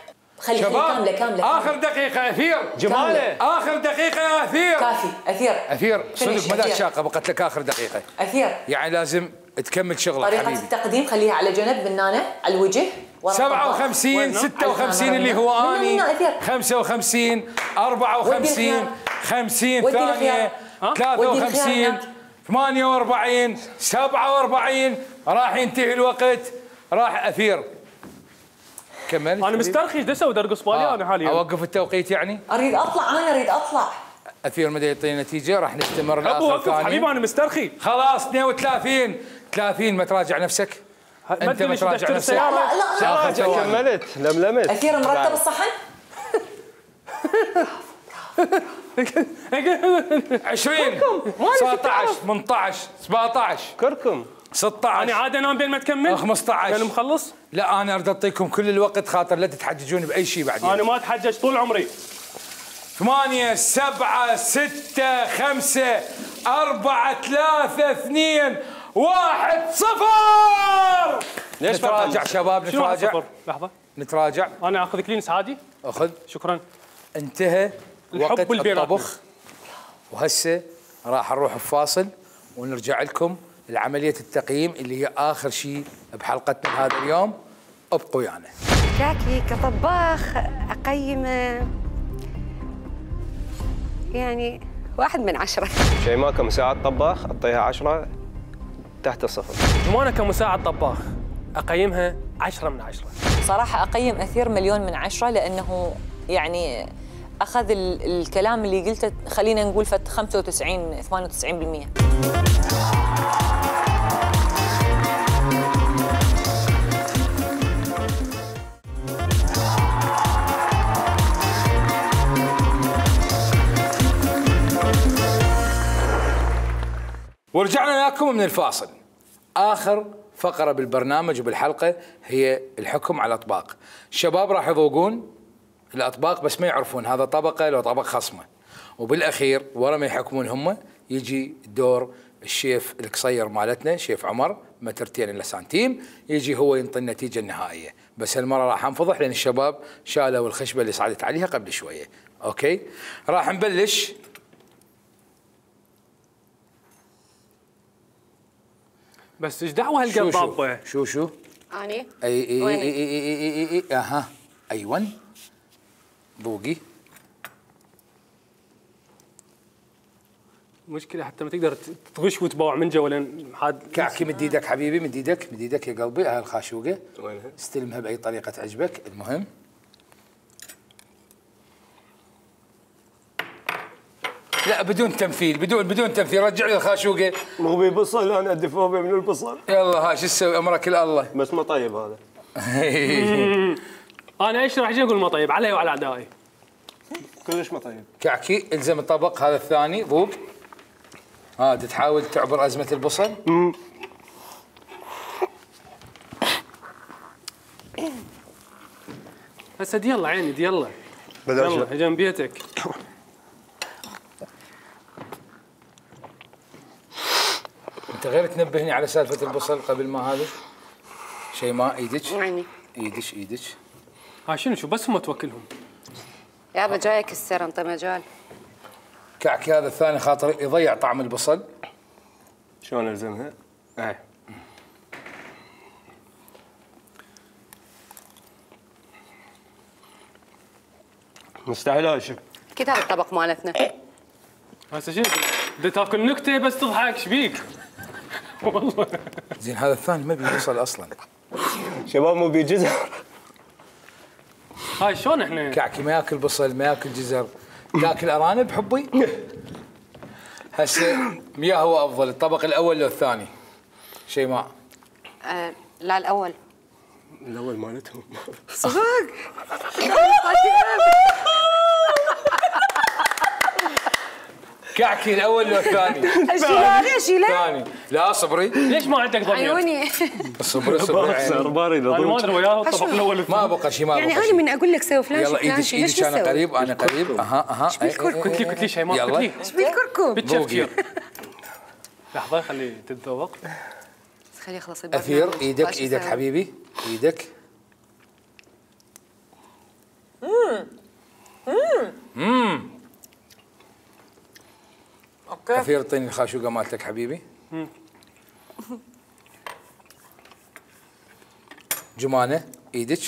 خليها كامله كامله. اخر دقيقه اثير. جماله. اخر دقيقه يا اثير. كافي اثير. اثير صدق ما شاقه بقت لك اخر دقيقه. اثير يعني لازم تكمل شغلك طريقه حبيبي. التقديم خليها على جنب بنانه على الوجه. سبعة وخمسين ستة وخمسين اللي هو اني خمسة وخمسين أربعة وخمسين خمسين ثانيه ثلاثة وخمسين ثمانية وأربعين سبعة وأربعين راح ينتهي الوقت. راح اثير كمل. انا مسترخي ايش اسوي ارقص بالي آه. انا حاليا. اوقف التوقيت يعني؟ اريد اطلع انا اريد اطلع. اثير مدى يعطيني نتيجه راح نستمر لاخر ابو وقف حبيبي انا مسترخي. خلاص اثنين وثلاثين ثلاثين ما تراجع نفسك؟ انت ما تراجع نفسك؟ لا لا لا كملت لملمت. اثير مرتب الصحن؟ عشرين تسعة عشر ثمانية عشر سبعة عشر كركم ستة عشر انا عاد انام بين ما تكمل خمسة عشر انا مخلص. لا انا اريد اعطيكم كل الوقت خاطر لا تتحججون باي شيء بعدين. انا ما اتحجج طول عمري. ثمانية سبعة ستة خمسة أربعة ثلاثة اثنين واحد صفر. ليش نتراجع شباب شنو واحد نتراجع صفر؟ لحظه نتراجع. انا اخذ كلينس عادي. اخذ. شكرا. انتهى وقت الحب اللي الطبخ، وهسه راح نروح بفاصل ونرجع لكم لعمليه التقييم اللي هي اخر شيء بحلقتنا هذا اليوم. ابقوا ويانا. كاكي كطباخ اقيمه يعني واحد من عشرة. شيماء كمساعد طباخ اعطيها عشرة تحت الصفر. جمانة كمساعد طباخ اقيمها عشرة من عشرة. صراحة أقيم أثير مليون من عشرة، لأنه يعني أخذ ال الكلام اللي قلته، خلينا نقول فت خمسة وتسعين ثمانية وتسعين بالمئة. ورجعنا لكم من الفاصل. آخر فقرة بالبرنامج وبالحلقة هي الحكم على الأطباق. الشباب راح يذوقون الأطباق بس ما يعرفون هذا طبقة لو طبق خصمة، وبالأخير ورا ما يحكمون هم يجي دور الشيف القصير مالتنا شيف عمر مترتين إلا سنتيم، يجي هو ينطي النتيجة النهائية. بس هالمرة راح انفضح لأن الشباب شالوا الخشبة اللي صعدت عليها قبل شوية. أوكي راح نبلش. بس ايش دعوه هالقلب ضابه؟ شو شو؟ اني اي اي اي اي اي اي اي اها ايون ذوقي. مشكلة حتى ما تقدر تغش وتبوع من جوا لان حاد. كعكي مد ايدك حبيبي، مد ايدك مد ايدك يا قلبي. هاي الخاشوقة وينها؟ استلمها باي طريقة تعجبك. المهم لا بدون تمثيل، بدون بدون تمثيل. رجع لي الخاشوقة. مغبي بصل انا عندي فوبيا من البصل. يلا ها شو تسوي امرك الله. بس ما طيب هذا. انا ايش راح اجي اقول ما طيب علي وعلى اعدائي. كلش ما طيب. كعكي الزم الطبق هذا الثاني ذوق. ها تحاول تعبر ازمة البصل. هسه دي يلا عيني دي يلا. يلا جنب بيتك. انت غير تنبهني على سالفة البصل قبل ما هذا شيء. ما ايدك يعني ايدك ايدك. ها شنو شو بس هم توكلهم. يابا جايك السر انطي مجال. كعكي هذا الثاني خاطر يضيع طعم البصل. شلون الزمها؟ اي مستحيل هاشم. اكيد هذا الطبق مالتنا. هسه شنو بدك تاكل نكته بس تضحك ايش بيك؟ والله زين هذا الثاني ما بيوصل اصلا. شباب مو بيجزر. هاي شلون احنا؟ كعكي ما ياكل بصل ما ياكل جزر. تاكل ارانب حبي؟ هسه يا هو افضل الطبق الاول لو الثاني؟ شيماء. آه لا الاول. الاول مالتهم. صدق. كعكي الاول لو الثاني؟ اشيله اشيله. الثاني. لا صبري. ليش ما عندك ضمير؟ عيوني. صبري صبري عيني. باري انا ما ادري وياه الطبق الاول ما بقى شيء ما بقى يعني شيء. انا من اقول لك سوي فلان يلا فلان ايدك شيء ليش ايدك انا تسوي؟ قريب انا قريب. اها اها. ايش بالكركم؟ قلت لي قلت لي شيء ما قلت لي. ايش بالكركم؟ بالتفكير. لحظه خليه تتذوق. خليه يخلص البرنامج. اثير ايدك باش ايدك يسوي. حبيبي ايدك. امم اوكي. اثير اعطيني الخاشوقه مالتك حبيبي. جمانه ايدك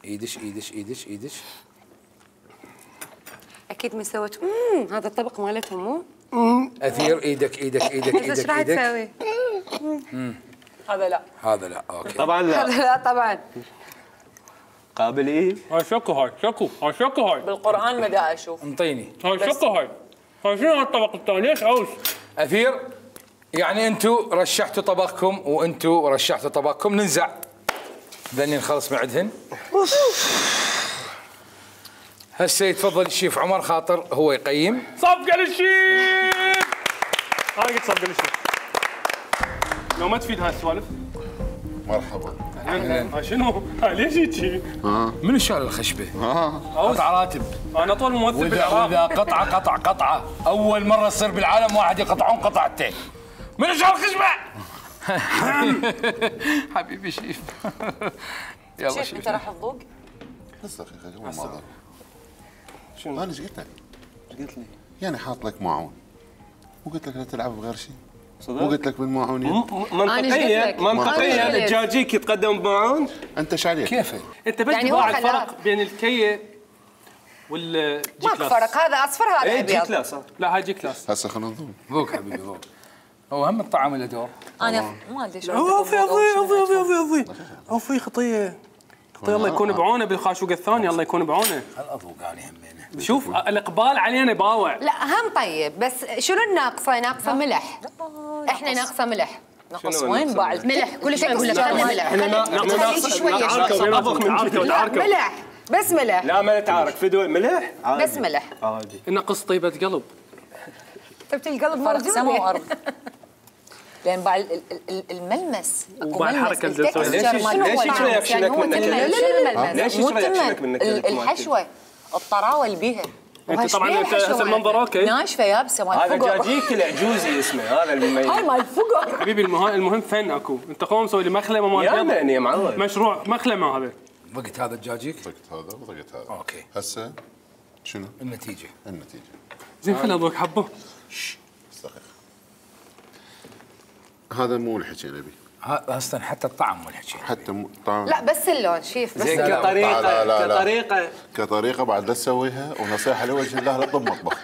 ايدك ايدك ايدك ايدك. اكيد ما سويت امم هذا الطبق مالتهم مو؟ اثير ايدك ايدك ايدك ايش ايدك راح ايدك. تسوي؟ هذا لا. هذا لا اوكي. طبعا لا. هذا لا طبعا. قابل ايه؟ هاي شكو هاي شكو هاي شكو هاي. بالقرآن ما دا اشوف. انطيني. هاي شكو هاي. هاي شنو الطبق الثاني ليش عوز؟ اثير يعني انتم رشحتوا طبقكم وانتم رشحتوا طبقكم ننزع. ذني نخلص من عندهن. هسه يتفضل الشيف عمر خاطر هو يقيم. صفقه للشيف. انا قلت صفقه للشيف. لو ما تفيد هاي السوالف. مرحبا. هاي شنو؟ هاي ليش هيجي؟ منو شال الخشبه؟ ها قطع راتب. انا طول ممثل واذا بالعراق. واذا قطعه قطع قطعه اول مره تصير بالعالم واحد يقطعون قطعتين. منو شال الخشبه؟ حبيبي شيف. يلا شيف شيف. انت راح تذوق؟ بس دقيقه قبل ما اضرب. شنو؟ انا ايش قلت لك؟ ايش قلت لي؟ يعني حاط لك معون وقلت لك لا تلعب بغير شيء. صدق؟ وقلت لك بالمعون م- م- أنا إيش قلت منطقيا لك؟ منطقيا أنا الدجاجيك يتقدم بمعون. انت ايش عليك؟ كيف؟ انت بس يعني هو تباع خلاص. الفرق بين الكيه والجي ماكو كلاس. فرق، هذا اصفر هذا اي جي ابيض. كلاس. لا هاي جي كلاس. هسه خلينا نذوق. ذوق حبيبي ذوق. هو هم الطعام له دور. انا ما ادري شو اوفي اوفي اوفي اوفي اوفي اوفي اوفي خطيه. خطيه الله يكون بعونه بالخاشوقه الثانيه، الله يكون بعونه. هل اذوق انا همينه. شوف الاقبال علينا باوع. لا هم طيب، بس شنو الناقصه؟ ناقصه ملح. احنا ناقصه ملح. نقص وين باع الفكرة؟ ملح كل شوي اقول لك خلي ملح، خلي خلي شويه تعاركوا تعاركوا لا تعاركوا. ملح بس ملح لا ما نتعارك في دول ملح عادي. بس ملح. عادي. نقص طيبه قلب. طيبة القلب فرق موجود. سما وارض. لان باع ال- ال- ال- الملمس اكو وباع ملمس، الحركة اللي التكستشر تسويها. ليش- مال ليش الطعام. يشرب يعني شنك هو منك؟ تمن. لا، لا، لا، لا، ليش مو يشرب تمن. شنك منك؟ ال- الحشوه الطراوه اللي بيها انت طبعا وهش انت بيها هسه حشوة المنظر اوكي. ناشفه يابسه مال هذا فقر. دجاجيك العجوزي اسمه، هذا اللي هاي يميز. مال فقر. حبيبي المهم المهم فن اكو. انت قوم مسوي لي مخلمه مال يا بيض. معني يا معود. مشروع مخلمه هذا. ضقت هذا الدجاجيك؟ ضقت هذا وضقت هذا. اوكي. هسه شنو؟ النتيجه. النتيجه. زين خليني اذوق حبه. بس دقيقه. هذا مو الحكي نبي. ها- اصلا حتى الطعم مو الحكي. حتى مو طعم. لا بس اللون شيف بس. زين لا، لا، كطريقه لا، لا، لا. كطريقه كطريقه بعد لا تسويها، ونصيحه لوجه الله لا تطب مطبخ.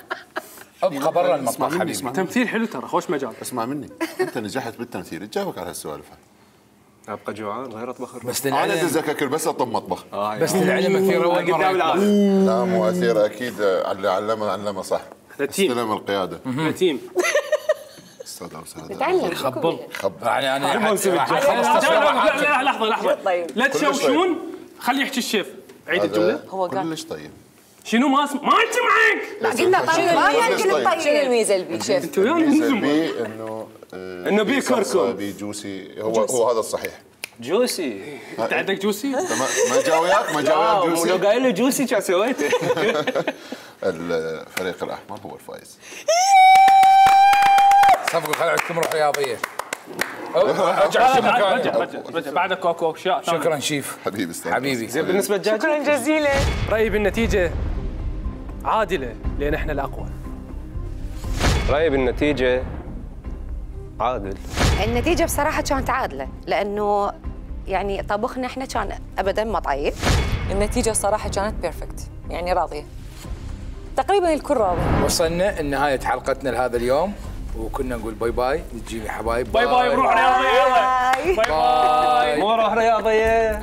ابقى برا اسمع المطبخ مني، حبيبي. اسمع مني. تمثيل حلو ترى، خوش مجال. اسمع مني، انت نجحت بالتمثيل، تجاوبك على هالسوالف. ابقى جوعان غير اطبخ. بس انا للعلم دزك اكل بس اطب مطبخ. بس للعلم اثير اول قدام مره العالم. يطبخ. لا مو اثير اكيد، اللي علمه علمه صح. تيم. استلم القياده. تيم. استاذ اوساد. تعلم خبل. خبر. يعني انا راح لا اخلص تصوير لا حاجة. لا لحظه لحظه. طيب. لا كلش تشوشون، خلي يحكي الشيف. عيد الجمله. هو قال. كلش طيب. شنو ما اسم... ما سمعك. لا قلنا طيب ما يمكن كلش طيب. الطيب. شنو الميزه اللي بيه شيف؟ انت ويانا الميزه ننزل. بيه انه آه، إنه بيه صلصة، كركم. بيه جوسي. هو هو هذا الصحيح. جوسي. انت عندك جوسي؟ انت ما ما جا وياك ما جا اه وياك ولو جوسي. قايل له جوسي كان سويته. الفريق الاحمر هو الفايز. صفقوا خلي عندكم روح رياضيه. رجع شو رجع مكاني. رجع رجع بعدك اكو اشياء ثانية. شكرا شيف حبيبي استاذ. حبيبي. زين بالنسبه للدجاج شكرا جزيلا. رايي بالنتيجه عادله لان احنا الاقوى. رايي بالنتيجه عادل. النتيجة بصراحة كانت عادلة لأنه يعني طبخنا احنا كان أبدا ما طيب. النتيجه الصراحه كانت بيرفكت، يعني راضيه. تقريبا الكل راضي. وصلنا لنهايه حلقتنا لهذا اليوم، وكنا نقول باي باي. نجي يا حبايب. باي باي بروح رياضيه. يلا باي باي. مو روح رياضيه.